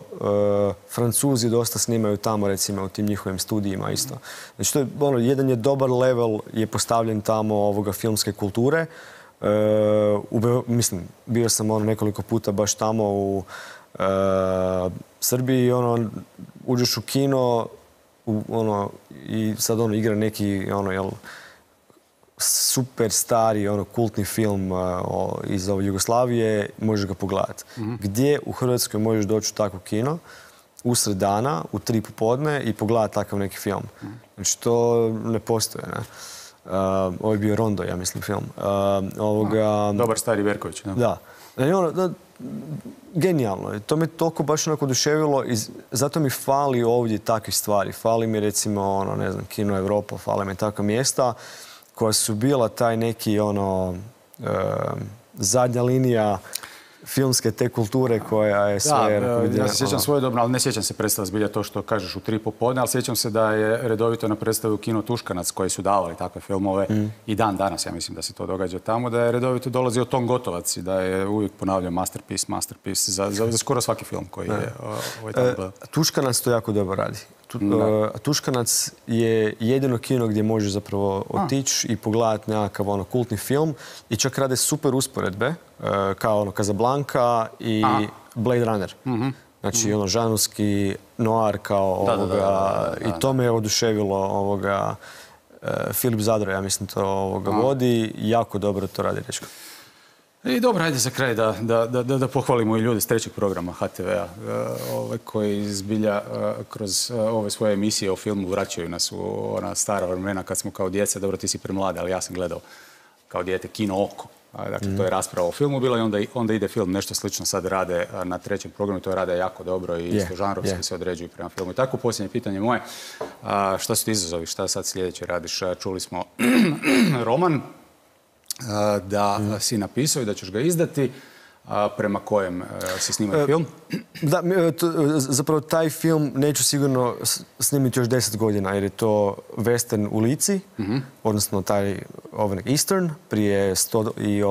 Francuzi dosta snimaju tamo, recimo, u tim njihovim studijima isto. Znači, to je, jedan je dobar level je postavljen tamo ovoga filmske kulture. Mislim, bio sam nekoliko puta baš tamo u Srbiji, uđeš u kino i sad igra neki super stari kultni film iz Jugoslavije, možeš ga pogledati. Gdje u Hrvatskoj možeš doći u takvo kino usred dana, u 3 popodne i pogledati takav neki film? Znači, to ne postoje, ne? Ovo je bio Rondo, ja mislim, film. Dobar stari Berković, ne? Da. Genijalno. To me toliko baš oduševilo i zato mi fali ovdje takvih stvari. Fali mi, recimo, ne znam, Kino Evropa, fali mi takva mjesta koja su bila taj neki, zadnja linija filmske te kulture koja je sve... Ja se sjećam svojedobno, ali ne sjećam se predstava zbilja to što kažeš u 3 popodne, ali sjećam se da je redovito na predstavi u Kino Tuškanac koji su davali takve filmove i dan danas, ja mislim da se to događa tamo, da je redovito dolazio Tom Gotovac i da je uvijek ponavljao masterpiece za skoro svaki film koji je tamo. Tuškanac to jako dobro radi. Tuškanac je jedino kino gdje možeš zapravo otići i pogledati nekakav kultni film i čak rade super usporedbe kao Casablanca i Blade Runner. Znači, žanrovski noir kao ovoga i to me je oduševilo Filip Zadro, ja mislim, to vodi, jako dobro to radi, dečko. I dobro, ajde za kraj da pohvalimo i ljude s 3. programa HTV-a koji zbilja kroz ove svoje emisije o filmu vraćaju nas u ona stara vremena kad smo kao djeca, dobro, ti si premlada, ali ja sam gledao kao dijete Kino Oko. Dakle, to je rasprava o filmu bila i onda ide film. Nešto slično sad rade na 3. programu, to rade jako dobro i isto žanrovski se određuju prema filmu. I tako, posljednje pitanje moje, šta su ti izazovi, šta sad sljedeće radiš? Čuli smo roman da si napisao i da ćeš ga izdati, prema kojem si snimao film? Da, zapravo taj film neću sigurno snimiti još 10 godina jer je to western u Lici, odnosno taj Eastern prije 100 i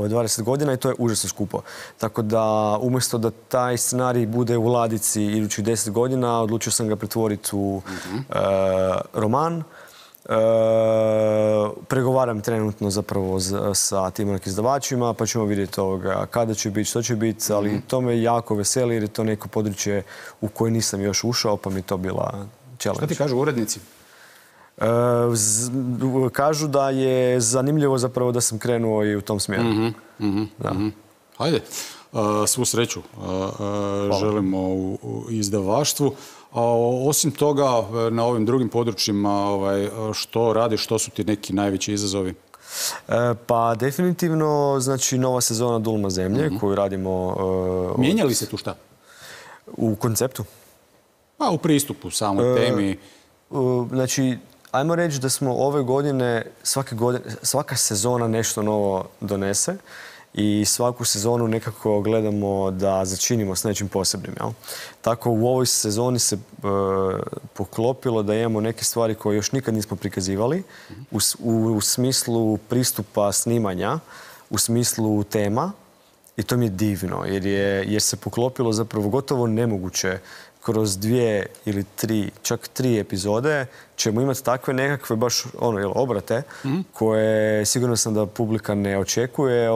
20 godina i to je užasno skupo. Tako da umjesto da taj scenarij bude u ladici idućih 10 godina, odlučio sam ga pretvoriti u roman. Pregovaram trenutno zapravo sa tim izdavačima, pa ćemo vidjeti kada će biti, što će biti, ali to me jako veseli jer je to neko područje u koje nisam još ušao, pa mi to bila challenge. Što ti kažu urednici? Kažu da je zanimljivo zapravo da sam krenuo i u tom smjeru. Hajde, svu sreću želimo u izdavaštvu. Osim toga, na ovim drugim područjima, što radiš, što su ti neki najveći izazovi? Pa definitivno, znači, nova sezona Dulma zemlje koju radimo... Mijenja li se tu šta? U konceptu? Pa u pristupu, samoj temi. znači, ajmo reći da smo ove godine, svaka sezona nešto novo donese i svaku sezonu nekako gledamo da začinimo s nečim posebnim. Jel? Tako u ovoj sezoni se poklopilo da imamo neke stvari koje još nikad nismo prikazivali u smislu pristupa snimanja, u smislu tema i to mi je divno jer se poklopilo zapravo gotovo nemoguće. Kroz 2 ili 3, čak 3 epizode ćemo imati takve nekakve baš obrate koje sigurno sam da publika ne očekuje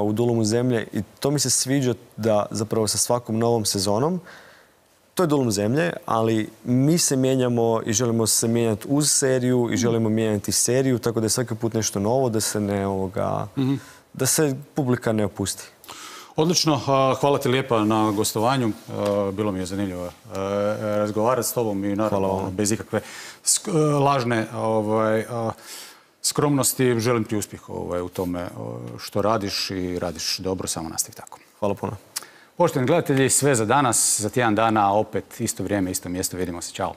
u Dulumu zemlje i to mi se sviđa da zapravo sa svakom novom sezonom to je Dulum zemlje, ali mi se mijenjamo i želimo se mijenjati uz seriju i želimo mijenjati seriju, tako da je svaki put nešto novo, da se da se publika ne opusti. Odlično, hvala ti lijepa na gostovanju. Bilo mi je zanimljivo razgovarati s tobom i naravno bez ikakve lažne skromnosti. Želim ti uspjeh u tome što radiš i radiš dobro, samo nastavi tako. Hvala puno. Poštovani gledatelji, sve za danas. Za tjedan dana opet isto vrijeme, isto mjesto. Vidimo se. Ćao.